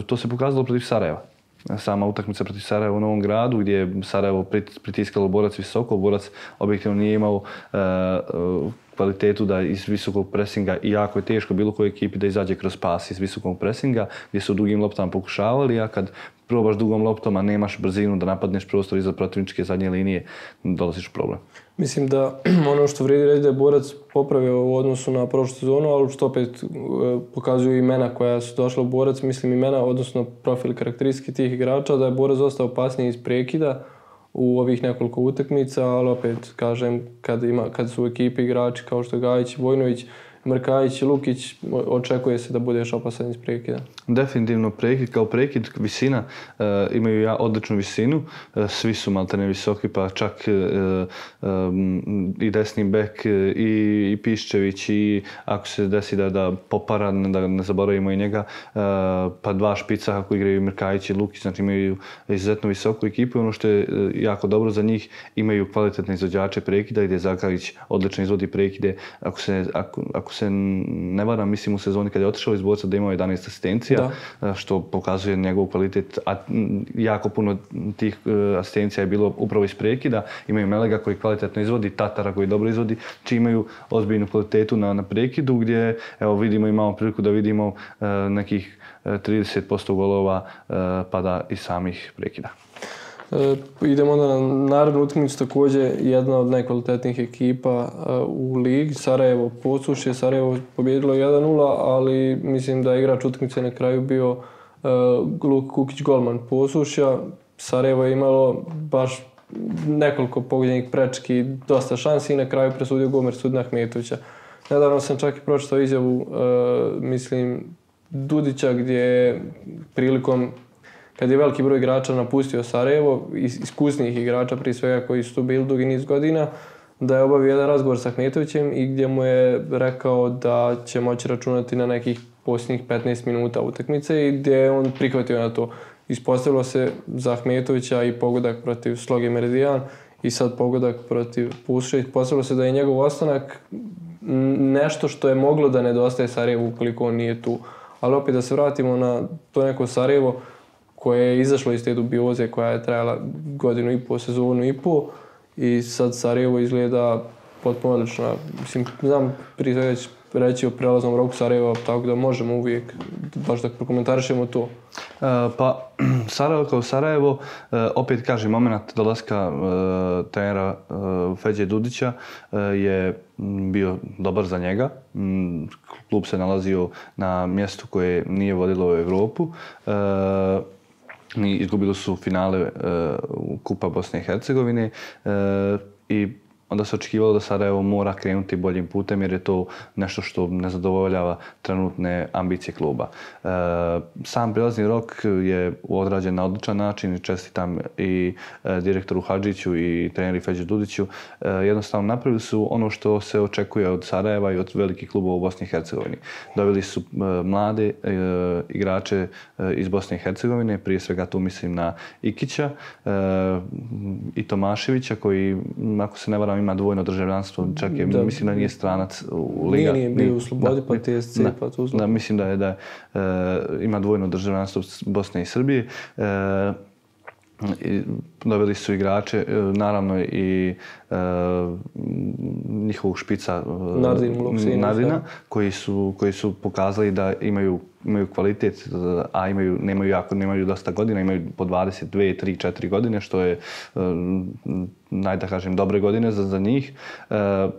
to se pokazalo protiv Sarajeva. Sama utakmica protiv Sarajeva u Novom Gradu gdje je Sarajevo pritiskalo Borac visoko, Borac objektivno nije imao kvalitetu da iz visokog presinga i jako je teško bilo kojoj ekipi da izađe kroz pas iz visokog presinga gdje su dugim loptama pokušavali, a kad probaš dugom loptom, a nemaš brzinu da napadneš prostor iza protivničke zadnje linije, dolaziš u problem. Mislim da ono što vrijedi reći da je Borac popravio u odnosu na prošlu sezonu, ali što opet pokazuju imena koja su došla u Borac, mislim imena, odnosno profil karakteristike tih igrača, da je Borac dosta opasniji iz prekida u ovih nekoliko utakmica, ali opet kažem kad su u ekipi igrači kao što je Gajić, Vojnović, Mrkajić i Lukić, očekuje se da budeš opasan iz prekida. Definitivno prekid kao prekid, visina, imaju odličnu visinu, svi su maltene visoki, pa čak i desni bek i Piščević i ako se desi da popara, da ne zaboravimo i njega, pa dva špica kako igraju Mrkajić i Lukić, znači imaju izuzetno visoku ekipu. Ono što je jako dobro za njih, imaju kvalitetne izvođače prekida gdje Zakarić odlično izvodi prekide. Ako se ne varam, mislim u sezoni kad je otišao iz Borca da imao 11 asistencija, što pokazuje njegov kvalitet, a jako puno tih asistencija je bilo upravo iz prekida. Imaju Melega koji kvalitetno izvodi, Tatara koji dobro izvodi, či imaju ozbiljnu kvalitetu na prekidu gdje evo imamo priliku da vidimo nekih 30% golova pada iz samih prekida. Idemo onda na narednu utakmicu, također jedna od najkvalitetnijih ekipa u ligi, Sarajevo Posušje. Sarajevo pobjedilo 1-0, ali mislim da je igrač utakmice na kraju bio Luka Kukić, golman Posušja. Sarajevo je imalo baš nekoliko pogođenih prečki, dosta šansi i na kraju presudio gol Mersudina Ahmetovića. Nedavno sam čak i pročitao izjavu, mislim, Dudića gdje je prilikom kad je veliki broj igrača napustio Sarajevo, iskusnijih igrača prije svega koji su tu bili dugi niz godina, da je obavio jedan razgovor sa Ahmetovićem i gdje mu je rekao da će moći računati na nekih posljednjih 15 minuta utakmice i gdje je on prihvatio na to. Ispostavilo se za Ahmetovića i pogodak protiv Sloge Meridijan i sad pogodak protiv Puše. Ispostavilo se da je njegov ostanak nešto što je moglo da nedostaje Sarajevu ukoliko on nije tu. Ali opet da se vratimo na to neko Sarajevo koje je izašlo iz te dubioze koja je trajala godinu i pol, sezonu i pol i sad Sarajevo izgleda potpuno odlično. Mislim, znam prije svega reći o prelaznom roku Sarajeva, tako da možemo uvijek baš da prokomentarišemo to. Pa Sarajevo kao Sarajevo, opet kažem, moment dolaska trenera Feđe Dudića je bio dobar za njega. Klub se nalazio na mjestu koje nije vodilo u Europu. izgubili su finale Kupa Bosne i Hercegovine i onda se očekivalo da Sarajevo mora krenuti boljim putem jer je to nešto što ne zadovoljava trenutne ambicije kluba. Sam prilazni rok je odrađen na odličan način i čestitam i direktoru Hadžiću i treneri Feđi Dudiću. Jednostavno napravili su ono što se očekuje od Sarajeva i od velikih klubova u Bosni i Hercegovini. Doveli su mlade igrače iz Bosne i Hercegovine, prije svega tu mislim na Ikića i Tomaševića koji, ako se ne varam, ima dvojno državljanstvo, čak je, mislim da nije stranac u Liga. Nije bio u Slobodi, pa TSC, pa tu da, mislim da ima dvojno državljanstvo Bosne i Srbije. Doveli su igrače, naravno i njihovog špica Nardina, koji su pokazali da imaju kvalitet, a nemaju dosta godina, imaju po 22, 3, 4 godine, što je da kažem, dobre godine za njih.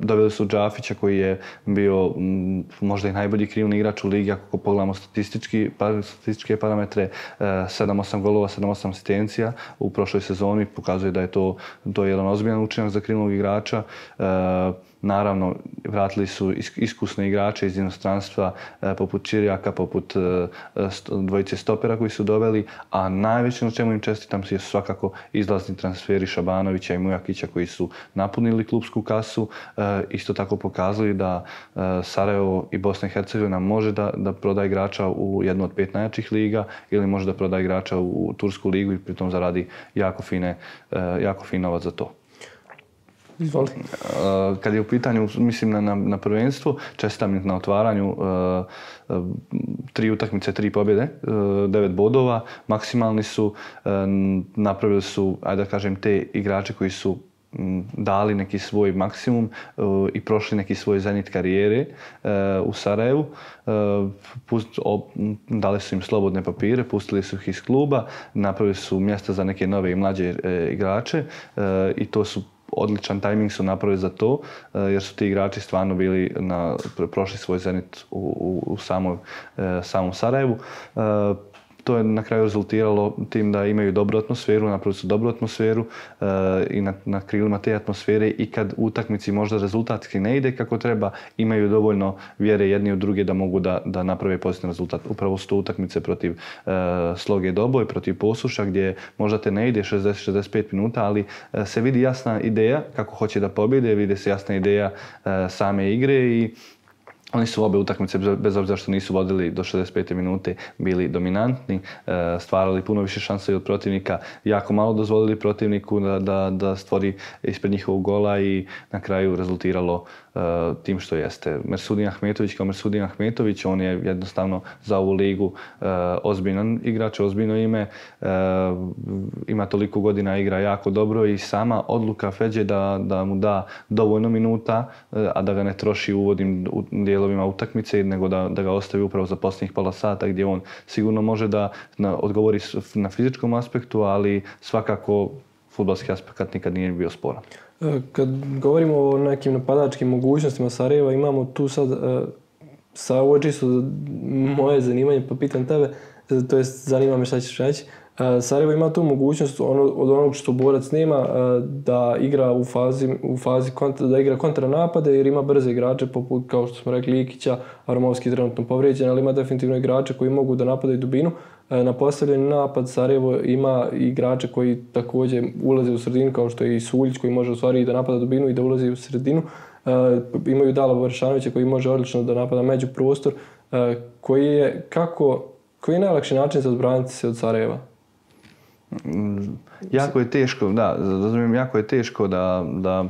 Doveli su Džafića koji je bio možda i najbolji krilni igrač u ligi, ako pogledamo statističke parametre, 7-8 golova, 7-8 asistencija u prošloj sezoni, pokazuje da je to jedan ozbiljan učinak za krilnog igrača. Naravno, vratili su iskusne igrače iz inostranstva poput Čirijaka, poput dvojice stopera koji su doveli, a najveće na čemu im čestitam su svakako izlazni transferi Šabanovića i Mujakića koji su napunili klubsku kasu. Isto tako pokazali da Sarajevo i Bosna i Hercegovina može da proda igrača u jednu od 5 najjačih liga ili može da proda igrača u Tursku ligu i pritom zaradi jako fin novac za to. Izvoli. Kad je u pitanju, mislim na prvenstvo, čestitam im na otvaranju 3 utakmice, 3 pobjede, 9 bodova, maksimalni su, napravili su, ajde da kažem, te igrače koji su dali neki svoj maksimum i prošli neki svoj zenit karijere u Sarajevu. Dali su im slobodne papire, pustili su ih iz kluba, napravili su mjesta za neke nove i mlađe igrače i to su odličan tajming su napravili za to, jer su ti igrači stvarno bili prošli svoj zenit u samom Sarajevu. To je na kraju rezultiralo tim da imaju dobru atmosferu, napravili su dobru atmosferu i na krilima te atmosfere i kad u utakmici možda rezultatski ne ide kako treba, imaju dovoljno vjere jedni u druge da mogu da naprave pozitivan rezultat. Upravo su to utakmice protiv Sloge Doboj, protiv Posuša gdje možda te ne ide 60-65 minuta, ali se vidi jasna ideja kako hoće da pobjede, vidi se jasna ideja same igre i oni su obe utakmice, bez obzira što nisu vodili do 65. minute, bili dominantni, stvarali puno više šanse od protivnika, jako malo dozvolili protivniku da stvori ispred njihovog gola i na kraju rezultiralo tim što jeste. Mersudin Ahmetović kao Mersudin Ahmetović, on je jednostavno za ovu ligu ozbiljan igrač, ozbiljno ime, ima toliko godina, igra jako dobro i sama odluka Feđe da mu da dovoljno minuta, a da ga ne troši u uvodnim dijelovima utakmice, nego da ga ostavi upravo za posljednjih pola sata gdje on sigurno može da odgovori na fizičkom aspektu, ali svakako fudbalski aspekt nikad nije bio sporan. Kad govorimo o nekim napadačkim mogućnostima Sarajeva, imamo tu sad, ovo je čisto moje zanimanje, pa pitam tebe, to jest zanima me šta ćeš reći. Sarajevo ima tu mogućnost od onog što Borac nema da igra u fazi da igra kontranapade jer ima brze igrače poput, kao što smo rekli, Ikića, Aromovski trenutno povrijeđen, ali ima definitivno igrače koji mogu da napadaju dubinu. Na postavljeni napad Sarajevo ima igrače koji također ulaze u sredinu, kao što je i Suljić koji može u stvari da napada dubinu i da ulazi u sredinu. Imaju Dala Varšanovića koji može odlično da napada međuprostor. Koji je najlakši način za odbraniti se od Sarajeva? Jako je teško, da, razumijem, jako je teško da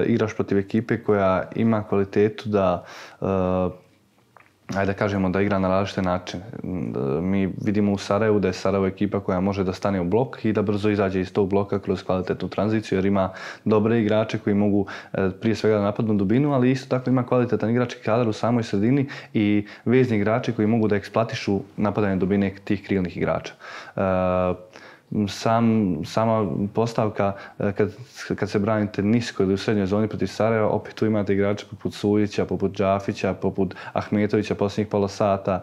igraš protiv ekipe koja ima kvalitetu da ajde da kažemo da igra na različite načine. Mi vidimo u Sarajevu da je Sarajevo ekipa koja može da stane u blok i da brzo izađe iz tog bloka kroz kvalitetnu tranziciju jer ima dobre igrače koji mogu prije svega da napadnu dubinu, ali isto tako ima kvalitetan igrački kadar u samoj sredini i vezni igrači koji mogu da eksploatišu napadanje dubine tih krilnih igrača. sama postavka kad se branite nisko ili u srednjoj zoni protiv Sarajeva, opet tu imate igrače poput Suljića, poput Džafića, poput Ahmetovića posljednjih pola sata,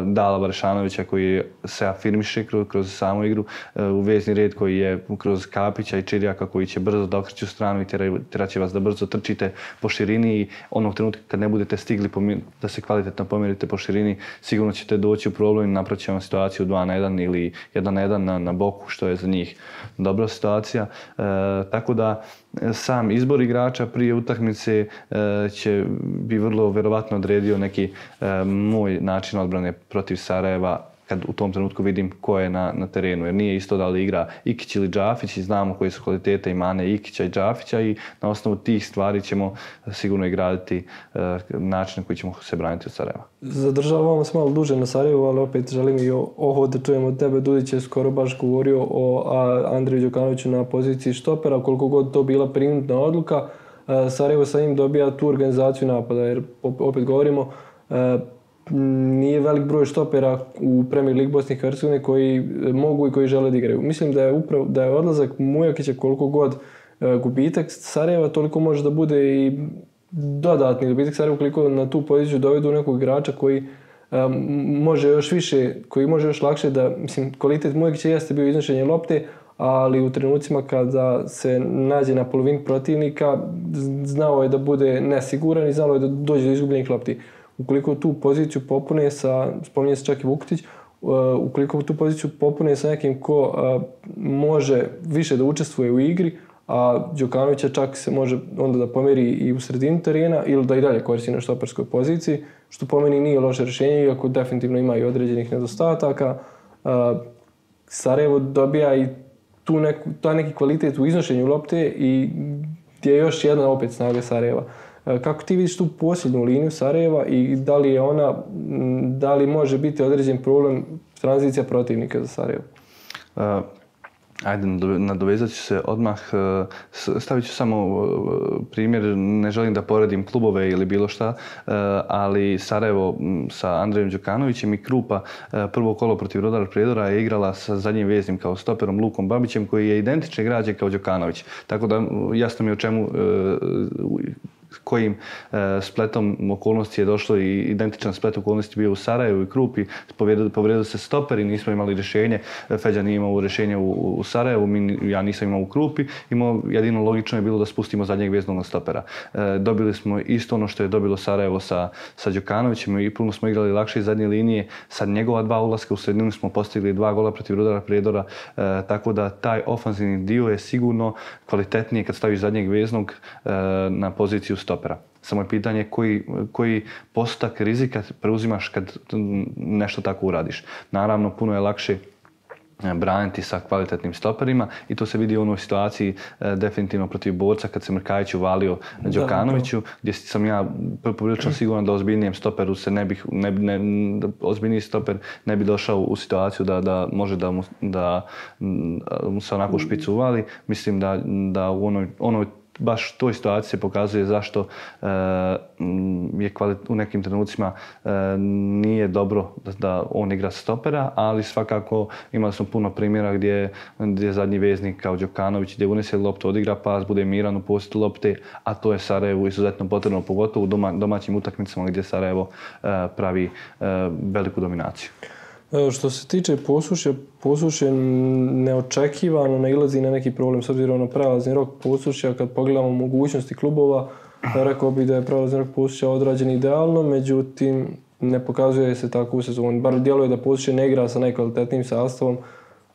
Dala Barešanovića koji se afirmiše kroz samu igru, u vezni red koji je kroz Kapića i Čirjaka koji će brzo da okreću stranu i tjerat će vas da brzo trčite po širini i onog trenutka kad ne budete stigli da se kvalitetno pomjerite po širini, sigurno ćete doći u problem i napravit će vam situaciju 2-1 ili 1-1 na boku, što je za njih dobra situacija. Tako da sam izbor igrača prije utakmice bi vrlo vjerovatno odredio neki moj način odbrane protiv Sarajeva kad u tom trenutku vidim ko je na terenu. Jer nije isto da li igra Ikić ili Džafić i znamo koje su kvalitete i mane Ikića i Džafića i na osnovu tih stvari ćemo sigurno i graditi način na koji ćemo se braniti od Sarajeva. Zadržavamo se malo duže na Sarajevu, ali opet želim i ovo da čujemo od tebe. Dudić je skoro baš govorio o Andriju Đukanoviću na poziciji štopera, koliko god to bila prinudna odluka. Sarajevo sa njim dobija tu organizaciju napada, jer opet govorimo nije velik broj štopera u Premier Ligi Bosne i Hercegovine koji mogu i koji žele da igraju. Mislim da je odlazak Mujakića koliko god gubitak Sarajeva, toliko može da bude i dodatni gubitak Sarajeva ukoliko na tu poziciju dovedu nekog igrača koji može još više, koji može još lakše da, mislim, kvalitet Mujakića jeste bio iznošenje lopte, ali u trenucima kada se nađe na polovini protivnika znao je da bude nesiguran i znao je da dođe do izgubljenih lopti. Ukoliko tu poziciju popune spominje se čak i Vuketić, ukoliko tu poziciju popune sa nekim ko može više da učestvuje u igri, a Đukanovića čak se može onda da pomeri i u sredini terena ili da i dalje koristi na štoperskoj poziciji, što po meni nije loše rješenje, iako definitivno ima i određenih nedostataka. Sarajevo dobija i taj neki kvalitet u iznošenju lopte i gdje je još jedna opet snaga Sarajeva. Kako ti vidiš tu posljednju liniju Sarajeva i da li može biti određen problem tranzicija protivnika za Sarajevo? Ajde, nadovezat ću se odmah. Stavit ću samo primjer, ne želim da poredim klubove ili bilo šta, ali Sarajevo sa Andrejem Đukanovićem i Krupa prvo kolo protiv Rodara Prijedora je igrala sa zadnjim veznim kao stoperom Lukom Babićem koji je identične građe kao Đukanović. Tako da jasno mi je o čemu kojim spletom okolnosti je došlo i identičan splet okolnosti bio u Sarajevu i Krupi. Povrijedili se stoperi, nismo imali rješenje. Feđa nije imao rješenje u Sarajevu, ja nisam imao u Krupi. Jedino logično je bilo da spustimo zadnjeg veznog stopera. Dobili smo isto ono što je dobilo Sarajevo sa Đukanovićem i puno smo igrali lakše iz zadnje linije. Sad njegova 2 ulaska u sredinu smo postigli 2 gola protiv Rudara Prijedora, tako da taj ofanzivni dio je sigurno kvalitetniji kad staviš zadnjeg veznog na poziciju stopera. Samo je pitanje koji postotak rizika preuzimaš kad nešto tako uradiš. Naravno, puno je lakše braniti sa kvalitetnim stoperima i to se vidi u onoj situaciji definitivno protiv Borca kad se Mrkajić uvalio Đokanoviću, gdje sam ja poprilično siguran da ozbiljnijem stoperu ozbiljniji stoper ne bi došao u situaciju da može da mu se onako u špicu uvali. Mislim da u onoj baš toj situaciji se pokazuje zašto je u nekim trenucima nije dobro da on igra stopera, ali svakako imali smo puno primjera gdje zadnji veznik kao Đokanović gdje unese loptu, odigra pas, bude miran u posjedu lopte, a to je Sarajevu izuzetno potrebno, pogotovo u domaćim utakmicama gdje Sarajevo pravi veliku dominaciju. Što se tiče Posušje neočekivano nailazi na neki problem s obzirom na prelazni rok Posušja. Kad pogledamo mogućnosti klubova, rekao bih da je prelazni rok Posušja odrađen idealno, međutim ne pokazuje se tako u sezoni. Bar djeluje da Posušje ne igra sa najkvalitetnijim sastavom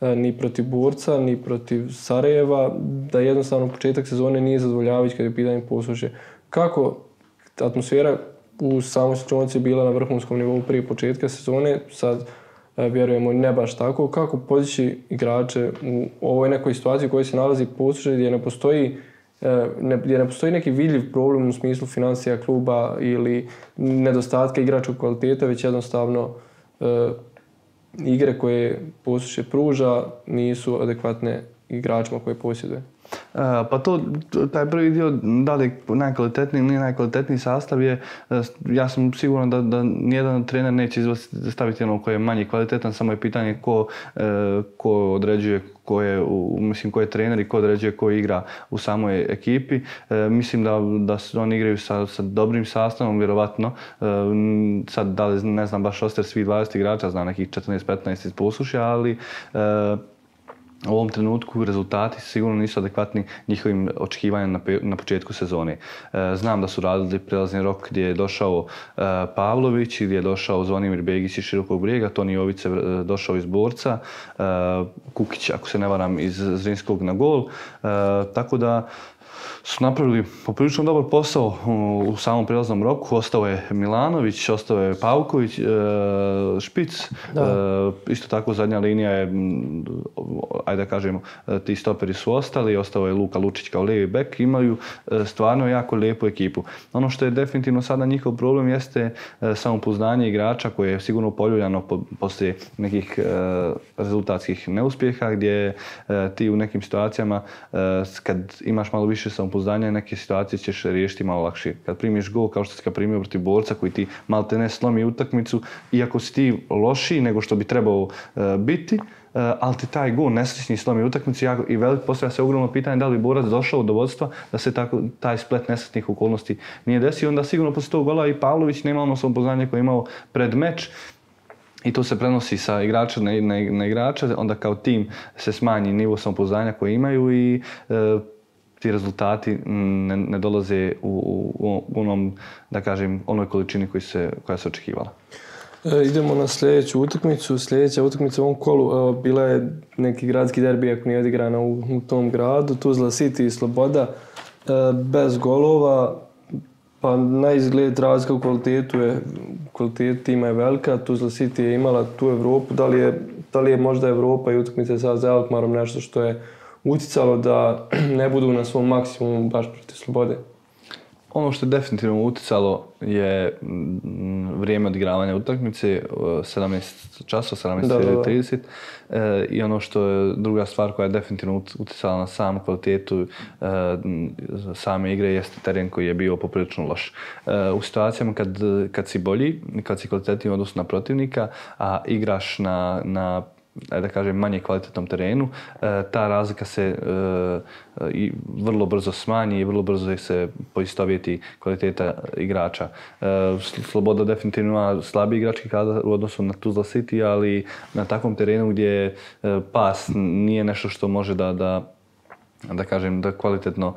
ni protiv Borca, ni protiv Sarajeva, da jednostavno početak sezone nije zadovoljavajući kad je pitanje Posušje. Kako atmosfera u samoj slučajnici bila na vrhunskom nivou prije početka sezone, sad vjerujemo ne baš tako, kako podići igrače u ovoj nekoj situaciji u kojoj se nalazi Posušje gdje ne postoji neki vidljiv problem u smislu financija kluba ili nedostatka igračkog kvaliteta, već jednostavno igre koje Posušje pruža nisu adekvatne igračima koje posjeduje. Pa taj prvi dio, da li najkvalitetniji ili nije najkvalitetniji sastav je, ja sam siguran da nijedan trener neće staviti ono koji je manje kvalitetan, samo je pitanje ko određuje, ko je trener i ko određuje ko igra u samoj ekipi. Mislim da oni igraju sa dobrim sastavom, vjerovatno. Sad, da li ne znam baš roster svih 20 igrača, znam nekih 14-15 iz Posušja, ali u ovom trenutku rezultati sigurno nisu adekvatni njihovim očekivanjima na početku sezone. Znam da su radili prelazni rok gdje je došao Pavlović, gdje je došao Zvonimir Begić iz Širokog Brijega, Toni Jovice došao iz Borca, Kukić, ako se ne varam, iz Zrinskog na gol. Tako da su napravili poprilično dobar posao u samom prijelaznom roku. Ostao je Milanović, ostao je Pavković, Špic. Isto tako zadnja linija je, ajde da kažemo, ti stoperi su ostali. Ostao je Luka Lučić kao lijevi bek. Imaju stvarno jako lijepu ekipu. Ono što je definitivno sada njihov problem jeste samopouzdanje igrača koje je sigurno poljuljano poslije nekih rezultatskih neuspjeha gdje ti u nekim situacijama kad imaš malo više samopouzdanja, neke situacije ćeš riješiti malo lakše. Kad primiš gol, kao što si ga primio protiv Borca koji ti maltene slomi utakmicu, iako si ti lošiji nego što bi trebao biti, ali ti taj gol nesrećni slomi utakmicu i postavlja se ogromno pitanje da li Borac došao do vodstva da se taj splet nesretnih okolnosti nije desio. Onda sigurno poslije tog gola i Pavlović nema ono samopouzdanje koje je imao pred meč. I to se prenosi sa igrača na igrača, onda kao tim se smanji nivo samopouzdanja koje imaju i ti rezultati ne dolaze u onom, da kažem, onoj količini koja se očekivala. Idemo na sljedeću utakmicu. Sljedeća utakmica u ovom kolu bila je neki gradski derbi, ako nije odigrana u tom gradu. Tuzla City i Sloboda bez golova. Pa na izgled razlika u kvalitetu tima je velika. Tuzla City je imala tu Evropu. Da li je možda Evropa i utakmice sa Alkmarom nešto što je uticalo da ne budu na svom maksimumu baš protiv Slobode? Ono što je definitivno uticalo je vrijeme odigravanja utakmice, 17 časova, 17:30. I ono što je druga stvar koja je definitivno uticala na samu kvalitetu same igre jeste teren koji je bio poprilično loš. U situacijama kad si bolji, kad si kvalitetniji u odnosu na protivnika, a igraš na da kažem, manje kvalitetnom terenu, ta razlika se vrlo brzo smanji i vrlo brzo se poistovjeti kvaliteta igrača. Sloboda definitivno ima slabiji igrački kadar u odnosu na Tuzla City, ali na takvom terenu gdje pas nije nešto što može da kažem, da kvalitetno,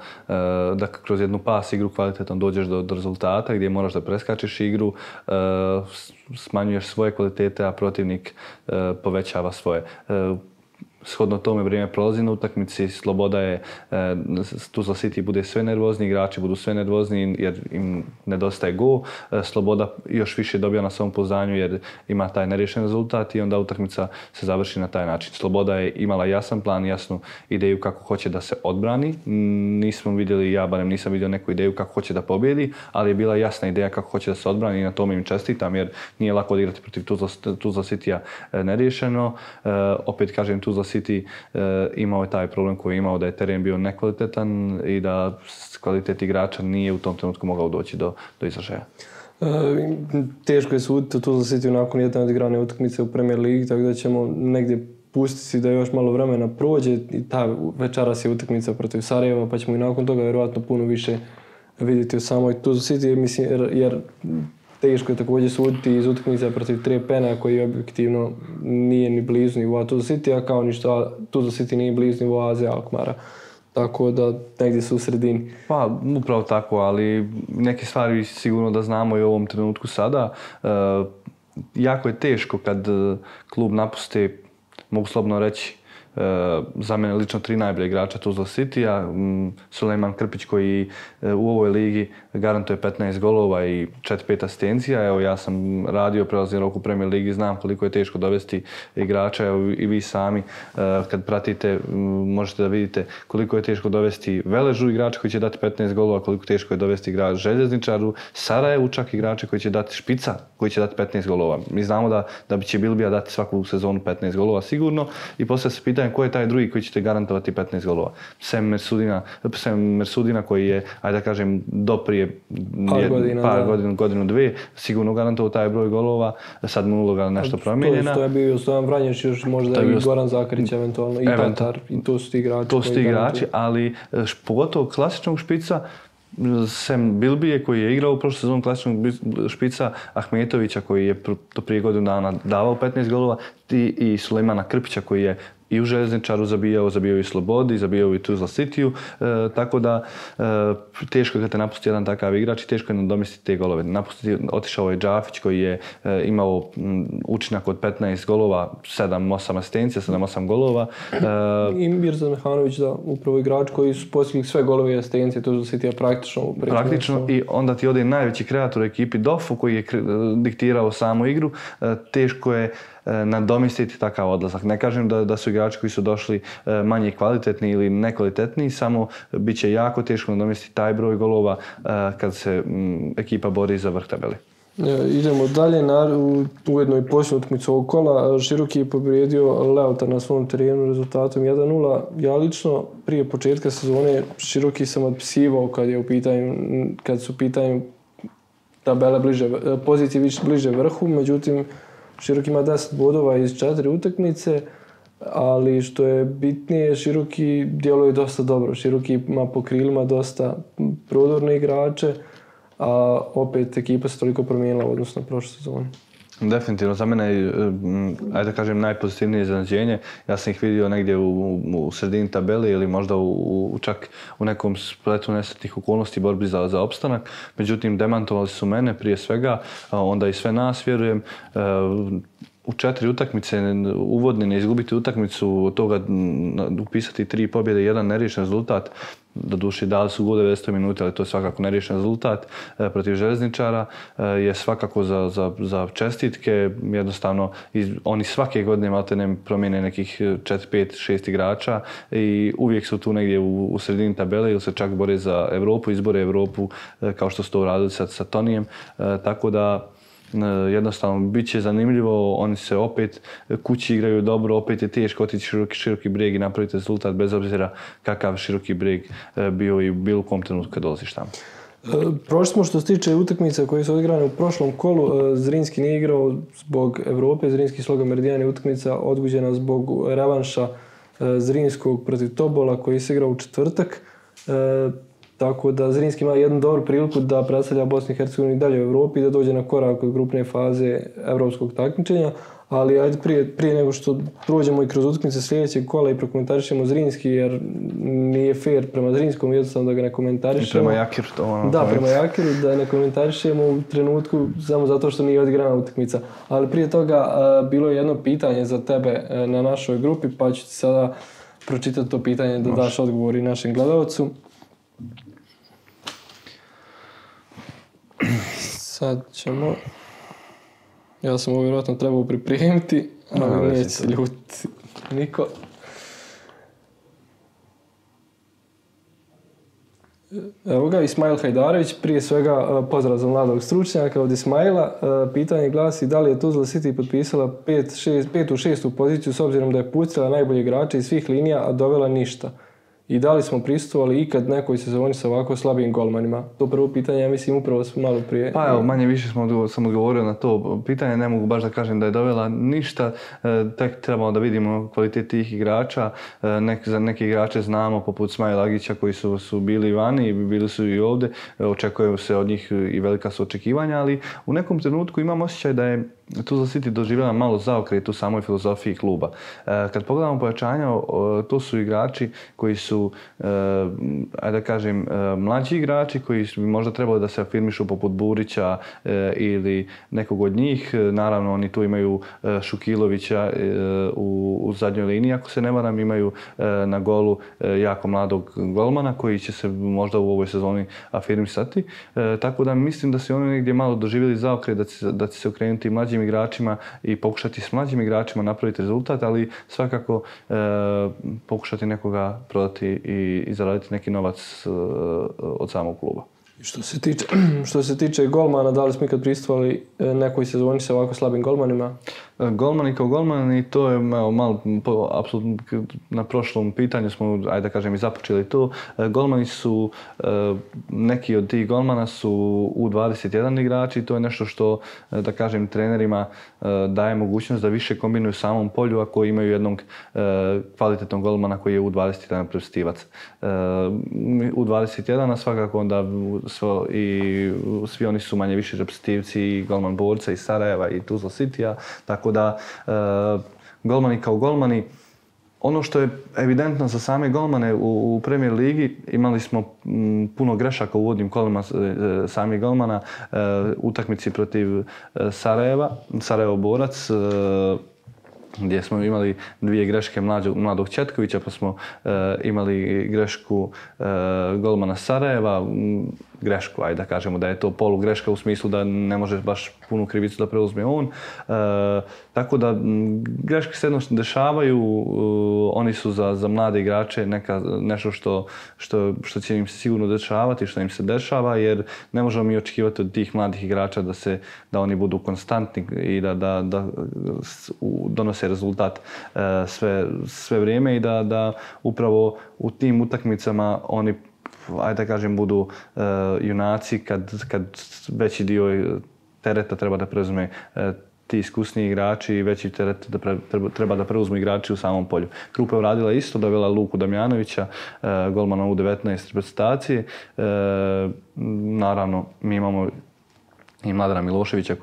da kroz jednu pas igru kvalitetno dođeš do rezultata gdje moraš da preskačeš igru, smanjuješ svoje kvalitete, a protivnik povećava svoje. Shodno tome vrijeme prolazi na utakmici, Sloboda je, Tuzla City bude sve nervozni, igrači budu sve nervozni jer im nedostaje gol. Sloboda još više dobija na samopouzdanju jer ima taj neriješen rezultat i onda utakmica se završi na taj način. Sloboda je imala jasan plan, jasnu ideju kako hoće da se odbrani. Nismo vidjeli, ja barem nisam vidio neku ideju kako hoće da pobjedi, ali je bila jasna ideja kako hoće da se odbrani i na tome im čestitam jer nije lako odigrati protiv Tuzla Citya neriješeno. Opet kažem, Tuzla City imao je taj problem koji je imao da je teren bio nekvalitetan i da kvalitet igrača nije u tom trenutku mogao doći do izražaja. Teško je suditi Tuzla City nakon jedne odigrane utakmice u Premier Ligi, tako da ćemo negdje pustiti da još malo vremena prođe i ta večeras je utakmica protiv Sarajeva, pa ćemo i nakon toga vjerojatno puno više vidjeti o samoj Tuzla City, mislim, jer teško je također suditi iz utakmice protiv Trepena koji objektivno nije ni blizu nivoa Tuzla City, a kao ništa Tuzla City nije blizu nivoa AZ Alkmaara. Tako da negdje su u sredini. Pa upravo tako, ali neke stvari sigurno da znamo i u ovom trenutku sada. Jako je teško kad klub napusti, mogu slobodno reći, za mene lično 3 najbolje igrača Tuzla Citya, Sulejman Krpić koji u ovoj ligi garantuje 15 golova i 4-5 asistencija. Evo, ja sam radio prelazni rok u Premier Ligi, znam koliko je teško dovesti igrača. Evo, i vi sami kad pratite možete da vidite koliko je teško dovesti Veležu igrača koji će dati 15 golova, koliko teško je dovesti igrač Željezničaru, Sarajevu čak igrače koji će dati Špica koji će dati 15 golova. Mi znamo da će Bilbija dati svaku sezonu 15 golova sigurno i poslije se pitanje pitanje ko je taj drugi koji će te garantovati 15 golova. Sem Mersudina koji je, ajde da kažem, do prije godinu, dvije, sigurno garantovao taj broj golova, sad mu uloga nešto promijenjena. To je bio Stojan Vranješ, još možda i Goran Zakarić eventualno, i Petar, i to su ti igrači. To su ti igrači, ali pogotovo klasičnog špica, sem Bilbije koji je igrao u prošloj sezoni klasičnog špica, Ahmetovića koji je do prije godinu dana davao 15 golova i Sulejmana Krpića koji je i u Željezničaru zabijao i u Slobodi, zabijao i u Tuzla Cityu, tako da teško je kad te napusti jedan takav igrač i teško je nadomjestiti te golove. Otišao je Džafić koji je imao učinak od 15 golova, 7-8 asistencija, 7-8 golova. I Mirzan Mehanović, da, upravo igrač koji su postigli sve golove i asistencije, Tuzla Citya praktično. I onda ti ode najveći kreator u ekipi Dofu koji je diktirao samu igru. Teško je nadomjestiti takav odlazak. Ne kažem da su igrači koji su došli manje kvalitetni ili nekvalitetni, samo bit će jako teško nadomjestiti taj broj golova kad se ekipa bori za vrh tabeli. Idemo dalje, ujedno i posljednju utakmicu ovog kola. Široki je pobjedio Leota na svom terenu rezultatom 1-0. Ja lično prije početka sezone Široki sam otpisivao kad su u pitanju tabele pozicije bliže vrhu, međutim Široki ima 10 bodova iz 4 utakmice, ali što je bitnije, Široki djeluje dosta dobro. Široki ima po krilima dosta prodorne igrače, a opet ekipa se toliko promijenila u odnosu na prošlu sezonu. Definitivno, za mene je, ajde da kažem, najpozitivnije iznenađenje. Ja sam ih vidio negdje u sredini tabeli ili možda čak u nekom spletu nesretnih okolnosti borbi za opstanak. Međutim, demantovali su mene prije svega, onda i sve nas, vjerujem. U 4 utakmice uvodne ne izgubiti utakmicu, od toga upisati 3 pobjede i 1 neriješen rezultat. Doduše dali su gol 90 minuta, ali to je svakako neriješen rezultat protiv Željezničara. Je svakako za čestitke. Jednostavno, oni svake godine maltene promijene nekih 4, 5, 6 igrača i uvijek su tu negdje u sredini tabele ili se čak bore za Europu, izbore Europu kao što su to uradili sa Tonijem. Tako da jednostavno bit će zanimljivo, oni se opet kući igraju dobro, opet je teško otići Široki Brijeg i napraviti rezultat bez obzira kakav Široki Brijeg bio i u bilo kom trenutku kad dolaziš tamo. Prošli smo što se tiče utakmica koje su odigrane u prošlom kolu. Zrinski nije igrao zbog Europe, Zrinski Sloga Meridijan je utakmica odgođena zbog revanša Zrinskog protiv Tobola koji se igrao u četvrtak. Tako da Zrinski ima jednu dobru priliku da predstavlja Bosnu i Hercegovinu i dalje u Europi i da dođe na korak od grupne faze evropskog takmičenja. Ali ajde prije nego što prođemo i kroz utakmice sljedećeg kola i prokomentarišemo Zrinski, jer nije fair prema Zrinskom jednostavno da ga ne komentarišemo. I prema Jakiru to Da, prema Jakiru da ne komentarišemo u trenutku samo zato što nije odigrana utakmica. Ali prije toga bilo je jedno pitanje za tebe na našoj grupi, pa ću ti sada pročitati to pitanje da daš odgovor i našem gledalcu. Sad ćemo... Ja sam ovo vjerojatno trebao pripremiti, ali neće se ljutiti niko. Evo ga, Ismail Hajdarević, prije svega pozdrav za mladog stručnjaka od Ismaila. Pitanje glasi da li je Tuzla City potpisala 5. u 6. poziciju s obzirom da je pucala najbolje igrače iz svih linija, a dovela ništa. I da li smo prisustvovali ikad nekoj sezoni sa ovako slabijim golmanima? To prvo pitanje, ja mislim, upravo smo malo prije... Pa evo, manje više sam odgovorio na to pitanje. Ne mogu baš da kažem da je dovela ništa. Tek trebamo da vidimo kvalitet tih igrača. Za neke igrače znamo, poput Smaila Agića, koji su bili vani i bili su i ovdje. Očekuju se od njih i velika su očekivanja, ali u nekom trenutku imam osjećaj da je Tuzla City doživjela malo zaokret u samoj filozofiji kluba. Kad pogledamo pojačanja, to su igrači koji su, ajde da kažem, mlađi igrači koji bi možda trebali da se afirmišu poput Burića ili nekog od njih. Naravno, oni tu imaju Šukilovića u zadnjoj liniji, ako se ne varam, imaju na golu jako mladog golmana koji će se možda u ovoj sezoni afirmisati. Tako da mislim da se oni negdje malo doživjeli zaokret, da će se okrenuti mlađim igračima i pokušati s mlađim igračima napraviti rezultat, ali svakako pokušati nekoga prodati i zaraditi neki novac od samog kluba. Što se tiče golmana, da li smo ikad prisustvovali nekoj sezoni sa ovako slabim golmanima? Golmani kao golmani, to je malo, apsolutno na prošlom pitanju smo, ajde da kažem, i započeli to. Golmani su, neki od tih golmana su U21 igrači, to je nešto što, da kažem, trenerima daje mogućnost da više kombinuju u samom polju ako imaju jednog kvalitetnog golmana koji je U21 prepstivac. U21, a svakako onda svi oni su manje više reprezentativci i golman Borca iz Sarajeva i Tuzla Citya, tako da golmani kao golmani. Ono što je evidentno za same golmane u Premier ligi, imali smo puno grešaka u uvodnim kolima samih golmana, utakmici protiv Sarajeva, Sarajevo Borac, gdje smo imali 2 greške mladog Četkovića, pa smo imali grešku golmana Sarajeva, grešku, ajde da kažemo da je to polugreška u smislu da ne može baš punu krivicu da preuzme on. Tako da greške se jednostavno dešavaju, oni su za mlade igrače nešto što će im se sigurno dešavati, što im se dešava, jer ne možemo mi očekivati od tih mladih igrača da oni budu konstantni i da donose rezultat sve vrijeme i da upravo u tim utakmicama oni, ajde da kažem, budu junaci kad veći dio tereta treba da preuzme ti iskusniji igrači i veći teret treba da preuzmu igrači u samom polju. Krupa je uradila isto, dovela Luku Damjanovića, golmana U19 reprezentacije. Naravno, mi imamo i Mladena Miloševića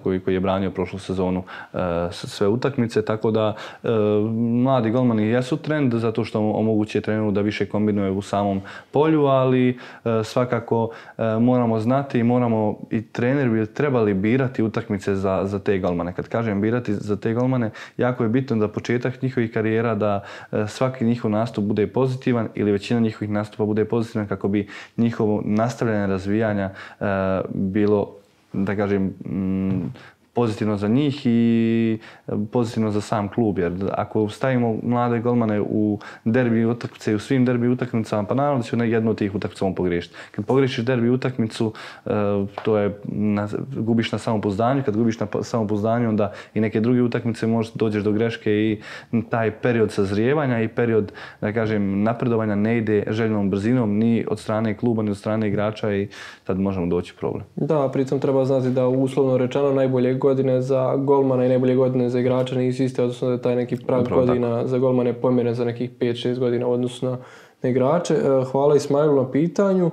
koji je branio prošlu sezonu sve utakmice, tako da mladi golmani jesu trend zato što omogućuje treneru da više kombinuje u samom polju, ali svakako moramo znati i moramo i trener bi trebali birati utakmice za te golmane. Kad kažem birati za te golmane, jako je bitno da početak njihovih karijera, da svaki njihov nastup bude pozitivan ili većina njihovih nastupa bude pozitivan kako bi njihovo nastavljanje razvijanja bilo, da kažem, pozitivno za njih i pozitivno za sam klub. Jer ako stavimo mlade golmane u derbi utakmice i u svim derbi utakmicama, pa naravno da će jednu od tih utakmica on pogriješiti. Kad pogriješiš derbi utakmicu, to je gubiš na samopouzdanju. Kad gubiš na samopouzdanju, onda i neke druge utakmice možda dođeš do greške i taj period sazrijevanja i period, da kažem, napredovanja ne ide željenom brzinom ni od strane kluba ni od strane igrača i tad možemo doći u problem. Da, pritom treba znati da uslovno rečeno najbolje godine za golmana i najbolje godine za igrača nisu iste, odnosno da je taj neki prag godina za golmane pomjeren za nekih 5-6 godina u odnosu na igrače. Hvala Ismailu na pitanju.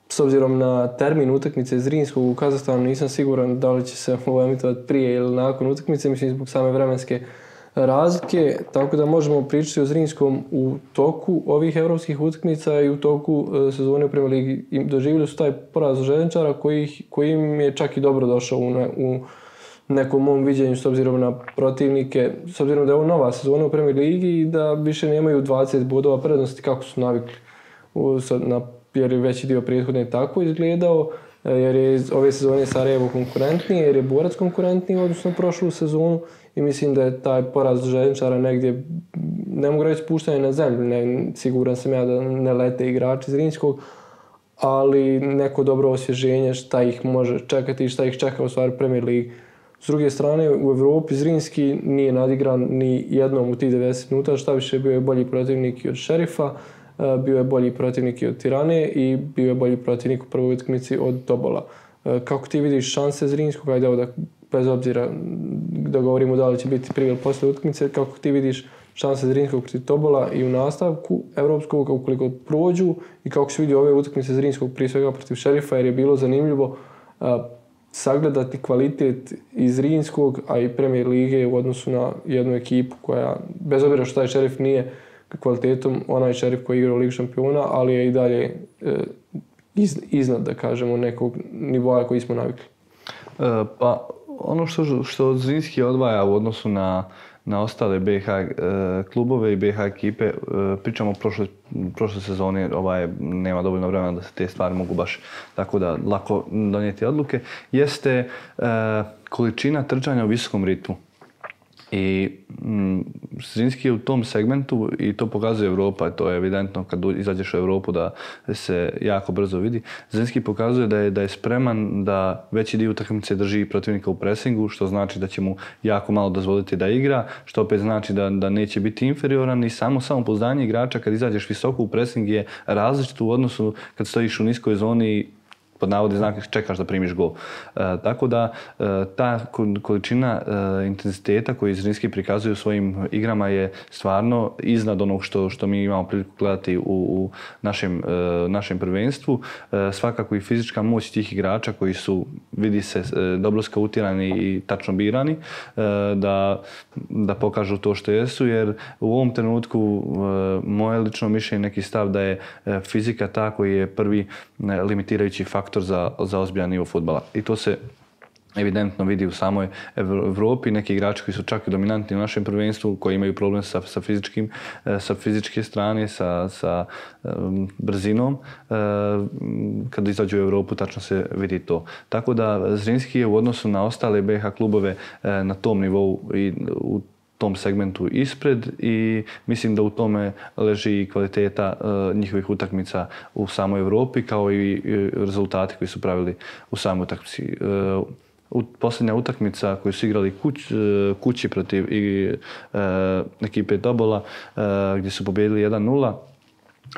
S obzirom na termin utakmice Zrinskog u Kazahstanu nisam siguran da li će se ovo emitovati prije ili nakon utakmice, mislim zbog same vremenske razlike, tako da možemo pričati o Zrinskom u toku ovih europskih utakmica i u toku sezone u Premier ligi. Doživjeli su taj poraz Željezničara koji im je čak i dobro došao u nekom mom viđenju s obzirom na protivnike, s obzirom da je ovo nova sezona u Premier ligi i da više nemaju 20 bodova prednosti kako su navikli, jer je veći dio prethodne tako izgledao, jer je ove sezone Sarajevo konkurentniji, jer je Borac konkurentniji u odnosu na prošlu sezonu i mislim da je taj poraz Željezničara negdje, ne mogu reći puštanje na zemlju, siguran sam ja da ne lete igrači Zrinskog, ali neko dobro osvježenje šta ih može čekati i šta ih čeka u stvari Premier ligi. S druge strane, u Evropi Zrinski nije nadigran ni jednom u tih 90 minuta, šta više bio je bolji protivnik i od Šerifa, bio je bolji protivnik i od Tirane i bio je bolji protivnik u prvoj utakmici od Tobola. Kako ti vidiš šanse Zrinskog, ajde evo da bez obzira da govorimo da li će biti prije ili poslije utakmice, kako ti vidiš šanse Zrinskog protiv Tobola i u nastavku evropskog ukoliko prođu i kako se vidi ove utakmice Zrinskog prije svega protiv Šerifa, jer je bilo zanimljivo sagledati kvalitet iz Zrinskog, a i Premier lige u odnosu na jednu ekipu koja, bez obzira što taj Šerif nije kvalitetom onaj Šerif koji igra u Ligu šampiona, ali je i dalje iznad, da kažemo, nekog nivoa koji smo navikli. Pa ono što Zrinski odvaja u odnosu na ostale BiH klubove i BiH ekipe, pričamo o prošle sezoni, nema dovoljno vremena da se te stvari mogu baš tako da lako donijeti odluke, jeste količina trčanja u visokom ritmu. I Zrinski je u tom segmentu i to pokazuje Europa, to je evidentno kad izađeš u Europu da se jako brzo vidi. Zrinski pokazuje da je spreman da veći dio utakmice drži protivnika u presingu, što znači da će mu jako malo dozvoliti da igra, što opet znači da neće biti inferioran i samopouzdanje igrača kad izađeš visoko u presing je različito u odnosu kad stojiš u niskoj zoni pod navodi znak čekaš da primiš gol. Tako da ta količina intenziteta koju Zrinski prikazuje u svojim igrama je stvarno iznad onog što mi imamo priliku gledati u našem prvenstvu. Svakako i fizička moć tih igrača koji su, vidi se, dobro skautirani i tačno birani, da pokažu to što jesu, jer u ovom trenutku moje lično mišljenje, neki stav da je fizika ta koji je prvi limitirajući faktor za ozbiljan nivo fudbala. I to se evidentno vidi u samoj Evropi. Neki igrači koji su čak i dominantni u našem prvenstvu, koji imaju problem sa fizičke strane, sa brzinom, kada izađu u Europu tačno se vidi to. Tako da Zrinski je u odnosu na ostale BiH klubove na tom nivou i u tom segmentu ispred i mislim da u tome leži i kvaliteta njihovih utakmica u samoj Europi kao i rezultati koji su pravili u samoj utakmici. Posljednja utakmica koju su igrali kući protiv ekipe Tobola gdje su pobijedili 1-0.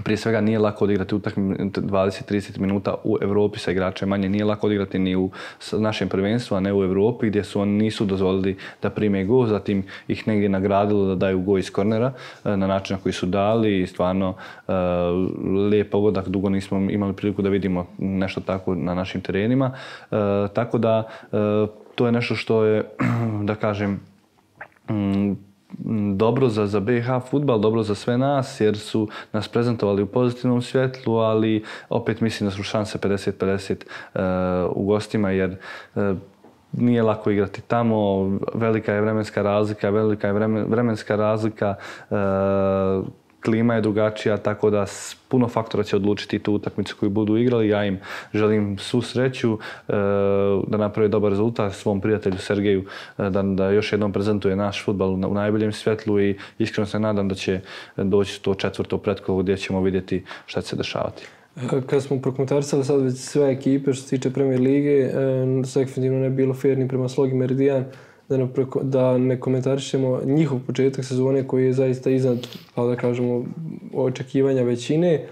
Prije svega nije lako odigrati utakmicu 20-30 minuta u Europi sa igračem manje. Nije lako odigrati ni u našem prvenstvu, a ne u Europi gdje su oni nisu dozvolili da prime gol, zatim ih negdje nagradilo da daju gol iz kornera na način na koji su dali i stvarno lijep pogodak. Dugo nismo imali priliku da vidimo nešto tako na našim terenima. Tako da to je nešto što je, da kažem, dobro za BiH fudbal, dobro za sve nas jer su nas prezentovali u pozitivnom svjetlu, ali opet mislim da su šanse 50-50 u gostima jer nije lako igrati tamo, velika je vremenska razlika, klima je drugačija, tako da puno faktora će odlučiti tu utakmicu koju budu igrali. Ja im želim svu sreću da naprave dobar rezultat svom prijatelju Sergeju, da još jednom prezentuje naš fudbal u najboljem svjetlu i iskreno se nadam da će doći to četvrto pretkolo gdje ćemo vidjeti šta će se dešavati. Kad smo prokomentarisali sad već sve ekipe što se tiče Premier lige, definitivno ne bi bilo fair ni prema Slogi Meridian da ne komentarišemo njihov početak sezone koji je zaista iznad, pa da kažemo, očekivanja većine.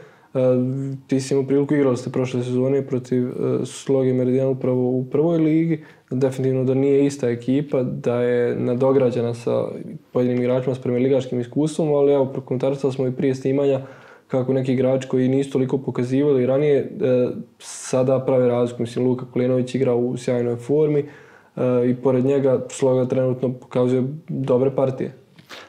Ti si imao priliku, igrali ste prošle sezone protiv Sloge Meridian upravo u prvoj ligi. Definitivno da nije ista ekipa, da je nadograđena sa pojedinim igračima s premijerligaškim iskustvom, ali evo, prokomentarisali smo i prije snimanja kako neki igrači koji nisu toliko pokazivali ranije sada prave razliku. Mislim, Luka Kulenović igra u sjajnoj formi, i pored njega Sloga trenutno pokazuje dobre partije.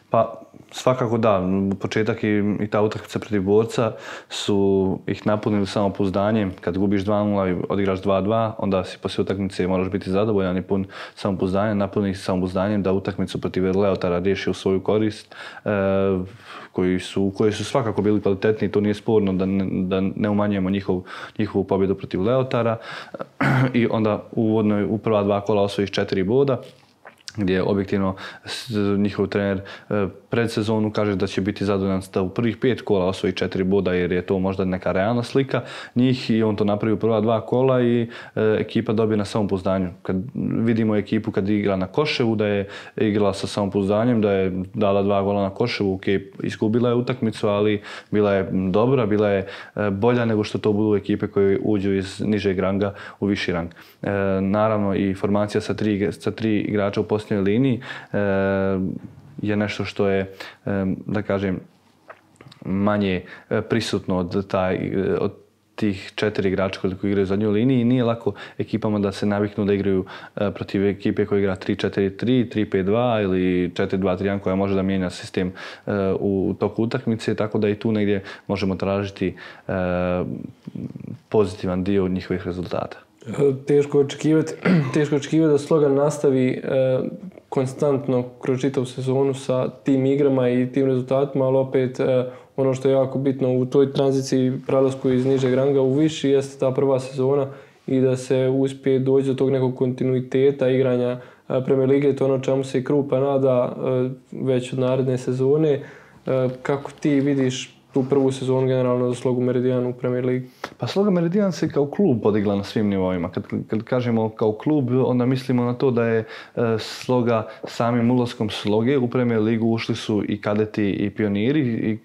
Pa svakako da, početak i ta utakmica protiv Borca su ih napunili samopouzdanjem. Kad gubiš 2-0 i odigraš 2-2, onda si poslije utakmice moraš biti zadovoljan i pun samopouzdanja, napuni ih samopouzdanjem da utakmicu protiv Leotara riješi u svoju korist, koji su svakako bili kvalitetni, to nije sporno da ne umanjujemo njihovu pobjedu protiv Leotara i onda u prva dva kola osvojiš 4 boda, gdje objektivno njihov trener pred sezonu kaže da će biti zadovoljan da u prvih 5 kola osvoji 4 boda jer je to možda neka realna slika njih i on to napravi u prva 2 kola i ekipa dobije na samopouzdanju. Kad vidimo ekipu kad igra na Koševu da je igrala sa samopouzdanjem, da je dala 2 gola na Koševu, izgubila je utakmicu, ali bila je dobra, bila je bolja nego što to budu ekipe koje uđu iz nižeg ranga u viši rang. Naravno i formacija sa 3 igrača u posljednjoj liniji je nešto što je, da kažem, manje prisutno od tih 4 igrača koliko igraju u zadnjoj liniji i nije lako ekipama da se naviknu da igraju protiv ekipe koja igra 3-4-3, 3-5-2 ili 4-2-3-1 koja može da mijenja sistem u toku utakmice, tako da i tu negdje možemo tražiti pozitivan dio njihovih rezultata. Teško očekivati da Sloga nastavi konstantno kroz čitavu sezonu sa tim igrama i tim rezultatima, ali opet ono što je jako bitno u toj tranziciji prelasku iz nižeg ranga u viši jeste ta prva sezona i da se uspije doći do tog nekog kontinuiteta igranja Premier lige, to je ono čemu se i Krupa nada već od naredne sezone. Kako ti vidiš tu prvu sezonu generalno za Slogu Meridijan u Premier ligi? Pa Sloga Meridijan se kao klub podigla na svim nivoima. Kad kažemo kao klub, onda mislimo na to da je Sloga samim ulaskom Sloge u Premier ligu ušli su i kadeti i pioniri i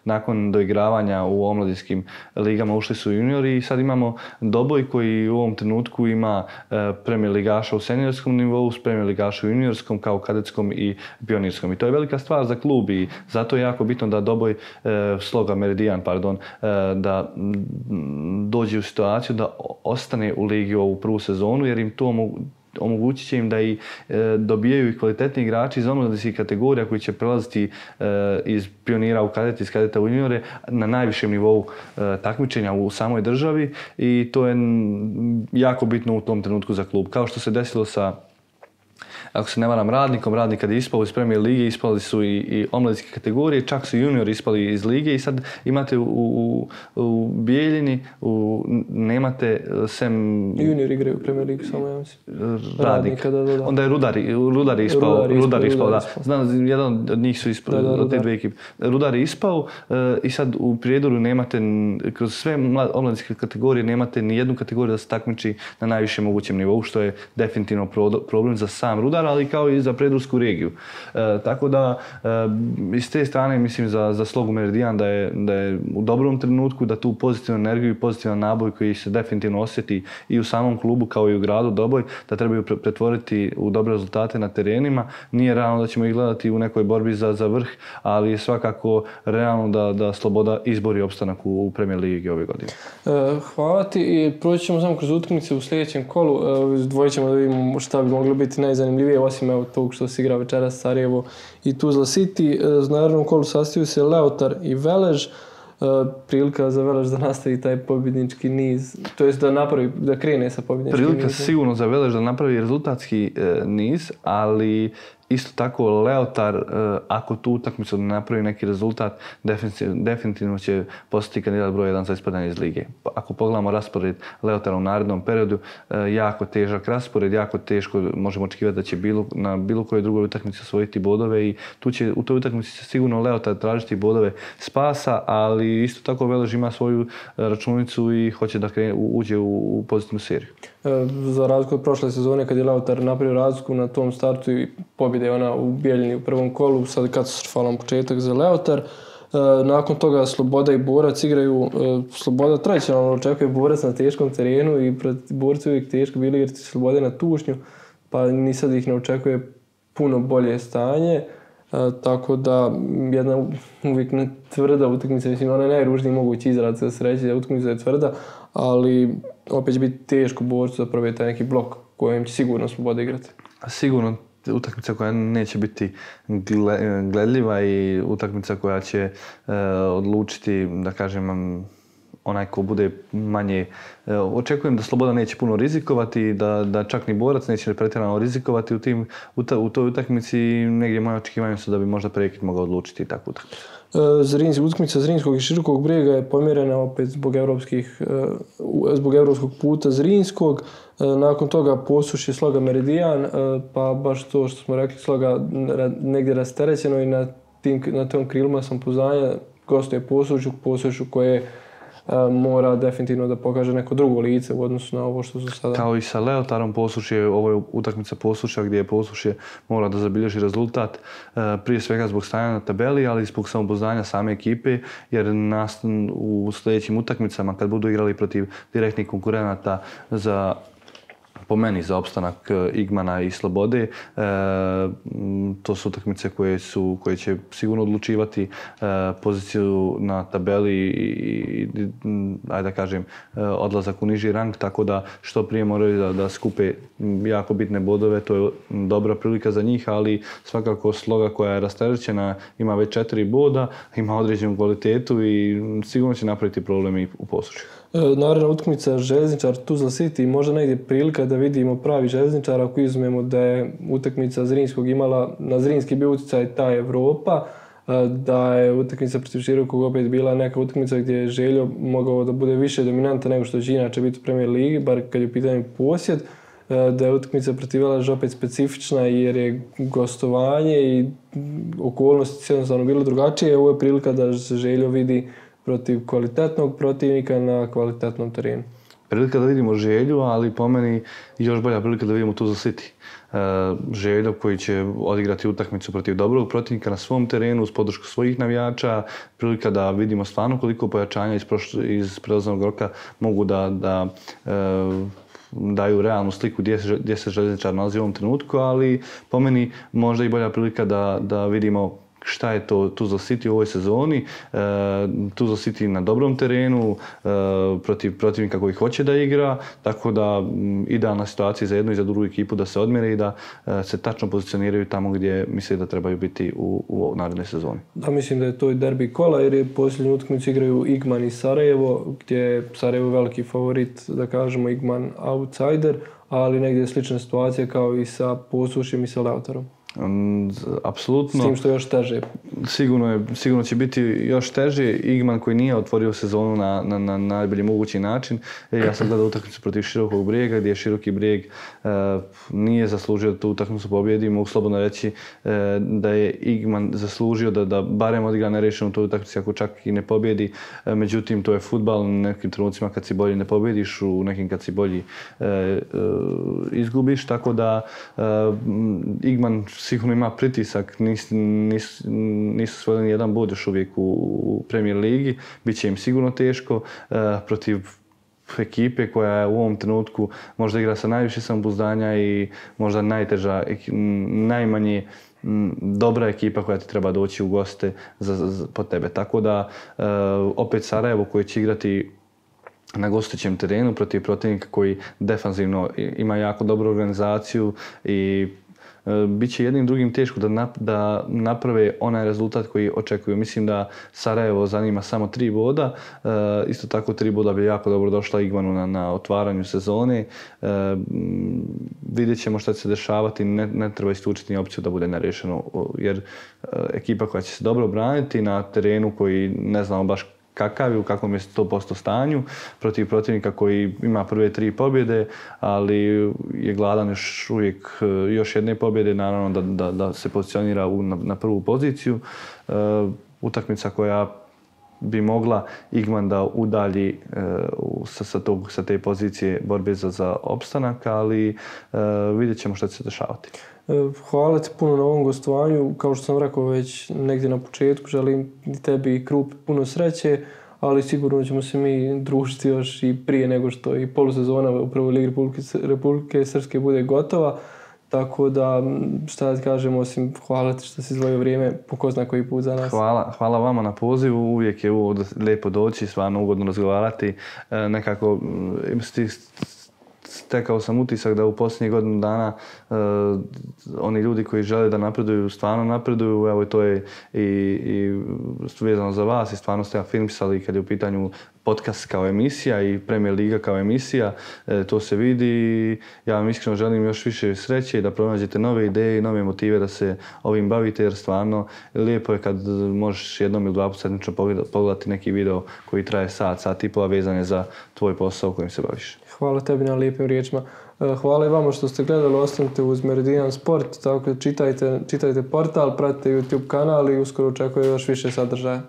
nakon doigravanja u omladinskim ligama ušli su juniori i sad imamo Doboj koji u ovom trenutku ima Premier ligaša u seniorskom nivou, Premier ligaša u juniorskom kao kadetskom i pionirskom. I to je velika stvar za klub i zato je jako bitno da Doboj Sloga Meridijan, da dođe u situaciju da ostane u ligi ovu prvu sezonu jer im to omogućit će im da i dobijaju i kvalitetni igrači iz omladinskih kategorija koji će prelaziti iz pionira u kadete, iz kadeta u juniore na najvišem nivou takmičenja u samoj državi i to je jako bitno u tom trenutku za klub. Kao što se desilo sa, ako se ne varam, Radnik kad je ispao iz Premier lige, ispali su i omladinske kategorije, čak su juniori ispali iz lige i sad imate u Bijeljini, nemate sem... Juniori igraju u Premier ligi, samo ja mislim. Radnik. Onda je Rudar ispao, da. Znam, jedan od njih su ispali, od te dve ekipe. Rudar je ispao i sad u Prijedoru nemate, kroz sve omladinske kategorije, nemate ni jednu kategoriju da se takmiči na najvišem mogućem nivou, što je definitivno problem za sam Rudar, ali kao i za Prijedorsku regiju. Tako da, iz te strane mislim za Slogu Meridijan da je u dobrom trenutku, da tu pozitivnu energiju i pozitivan naboj koji se definitivno osjeti i u samom klubu kao i u gradu Doboj, da trebaju pretvoriti u dobre rezultate na terenima. Nije realno da ćemo ih gledati u nekoj borbi za vrh, ali je svakako realno da Sloboda izbori opstanak u Premier ligi ove godine. Hvala ti i proći ćemo samo kroz utakmice u sljedećem kolu. Izdvojit ćemo da vidimo šta bi moglo biti najzanimljivije, osim tog što se igra večeras Sarajevo i Tuzla City. Na narednom kolu sastaju se Leotar i Velež. Prilika za Velež da nastavi taj pobjednički niz, to jest da krene sa pobjedničkim nizom. Prilika sigurno za Velež da napravi rezultatski niz, ali isto tako Leotar, ako tu utakmicu ne napravi neki rezultat, definitivno će postati kandidat broj 1 za ispadanje iz lige. Ako pogledamo raspored Leotara u narednom periodu, jako težak raspored, jako teško možemo očekivati da će na bilo kojoj drugoj utakmici osvojiti bodove i u toj utakmici će sigurno Leotar tražiti bodove spasa, ali isto tako Velež ima svoju računicu i hoće da uđe u pozitivnu seriju. Za razliku od prošle sezone kad je Leotar napravio razliku na tom startu i pobjede ona u Bijeljini u prvom kolu, sad katastrofalan početak za Leotar. Nakon toga Sloboda i Borac igraju. Sloboda tradicionalno očekuje Borac na teškom terenu i protiv Borca uvijek teško bili igrati Slobode na tušnju, pa ni sad ih ne očekuje puno bolje stanje. Tako da jedna uvijek tvrda utakmica, mislim ona je najružniji mogući izraz da se reći da utakmica je tvrda, ali opet će biti teško Borcu da probije taj neki blok kojem će sigurno Sloboda igrati. Sigurno utakmica koja neće biti gledljiva i utakmica koja će odlučiti, da kažem, onaj ko bude manje... Očekujem da Sloboda neće puno rizikovati, da čak ni Borac neće pretjerano rizikovati u toj utakmici. Negdje moje očekivanje su da bi možda prekid mogao odlučiti takvu utakmicu. Utakmica Zrinskog i Širokog Brijega je pomjerena opet zbog evropskog puta Zrinskog. Nakon toga Posušje Sloga Meridijan, pa baš to što smo rekli, Sloga negdje rasterećeno i na tom krilima samopouzdanja gostuje Posušju koje mora definitivno da pokaže neko drugo lice u odnosu na ovo što su sada. Kao i sa Leotarom Posušje, ovo je utakmica Posušja gdje je Posušje mora da zabilježi rezultat prije svega zbog stanja na tabeli, ali i zbog samopouzdanja same ekipe, jer u sljedećim utakmicama kad budu igrali protiv direktnih konkurenata po meni za opstanak Igmana i Slobode, to su utakmice koje će sigurno odlučivati poziciju na tabeli i ajde da kažem, odlazak u niži rang, tako da što prije moraju da skupe jako bitne bodove, to je dobra prilika za njih, ali svakako Sloga koja je rasterećena ima već 4 boda, ima određenu kvalitetu i sigurno će napraviti problemi u Posušju. Naredna utakmica Željezničar Tuzla City, možda negdje prilika da vidimo pravi Željezničar ako izuzmemo da je utakmica Zrinskog imala, na Zrinski bio utjecaj ta Evropa, da je utakmica protiv Širokog opet bila neka utakmica gdje je Željo mogao da bude više dominanta nego što će inače biti u Premier ligi, bar kad je u pitanju posjed. da je utakmica protiv Veleža opet specifična jer je gostovanje i okolnosti su jednostavno bile drugačije. Ovo je prilika da se Željo vidi protiv kvalitetnog protivnika na kvalitetnom terenu. Prilika da vidimo Želju, ali po meni još bolja prilika da vidimo Tuzla City. Željo koji će odigrati utakmicu protiv dobrog protivnika na svom terenu uz podršku svojih navijača, prilika da vidimo stvarno koliko pojačanja iz prelaznog roka mogu da daju realnu sliku gdje se Željezničar nalazi u ovom trenutku, ali po meni možda i bolja prilika da vidimo šta je to Tuzla City u ovoj sezoni. Tuzla City na dobrom terenu, protiv protivnika koji hoće da igra, tako da idealna situacija za jednu i za drugu ekipu da se odmjere i da se tačno pozicioniraju tamo gdje misle da trebaju biti u narednoj sezoni. Da, mislim da je to i derbi kola jer je posljednju utakmicu igraju Igman i Sarajevo, gdje je Sarajevo veliki favorit, da kažemo Igman outsider, ali negdje je slična situacija kao i sa Posušjem i sa Leotarom. Apsolutno. S tim što je još teže. Sigurno će biti još teže. Igman koji nije otvorio sezonu na najbolji mogući način. Ja sam gledao utakmicu protiv Širokog Brijega gdje je Široki Brijeg nije zaslužio da tu utakmicu pobjedi. Mogu slobodno reći da je Igman zaslužio da barem odigra nerešenu tu utakmicu ako čak i ne pobjedi. Međutim, to je fudbal. U nekim trenucima kad si bolji ne pobjediš, u nekim kad si bolji izgubiš. Tako da Igman sigurno ima pritisak, nisu svojili ni jedan bod još uvijek u Premier ligi, bit će im sigurno teško protiv ekipe koja je u ovom trenutku možda igra sa najviše samopouzdanja i možda najteža, najmanje dobra ekipa koja ti treba doći u goste po tebe. Tako da opet Sarajevo koji će igrati na gostujućem terenu protiv protivnika koji defanzivno ima jako dobru organizaciju i biće jednim drugim teško da naprave onaj rezultat koji očekuju. Mislim da Sarajevo zanima samo 3 boda. Isto tako 3 boda bi jako dobro došla Igmanu na otvaranju sezone. Vidjet ćemo šta će se dešavati. Ne treba isključiti ni opciju da bude nerešeno jer ekipa koja će se dobro braniti na terenu koji ne znamo baš kakav je, u kakvom je 100% stanju, protiv protivnika koji ima prve 3 pobjede, ali je gladan još uvijek još jedne pobjede, naravno da se pozicionira na prvu poziciju. Utakmica koja bi mogla Igman da udalji sa te pozicije borbe za opstanak, ali vidjet ćemo šta će se dešavati. Hvala ti puno na ovom gostovanju. Kao što sam rekao već negdje na početku, želim i tebi i Krupi puno sreće, ali sigurno ćemo se mi družiti još i prije nego što i polusezona u prvoj ligi Republike Srpske bude gotova. Tako da, šta da kažem, osim hvala ti što si izdvojio vrijeme po ko zna koji put za nas. Hvala vama na pozivu, uvijek je lijepo doći, stvarno ugodno razgovarati. Nekako stekao sam utisak da u posljednjih godinu dana oni ljudi koji žele da napreduju, stvarno napreduju. Evo to je i vezano za vas i stvarno ste afirmisali kad je u pitanju podcast kao emisija i Premier Liga kao emisija. To se vidi. Ja vam iskreno želim još više sreće i da pronađete nove ideje i nove motive da se ovim bavite jer stvarno lijepo je kad možeš jednom ili 2 puta sedmično pogledati neki video koji traje sat i pola vezan je za tvoj posao kojim se baviš. Hvala tebi na lijepim riječima. Hvala i vama što ste gledali, ostanite uz Meridian Sport, tako čitajte portal, pratite YouTube kanal i uskoro očekuje još više sadržaja.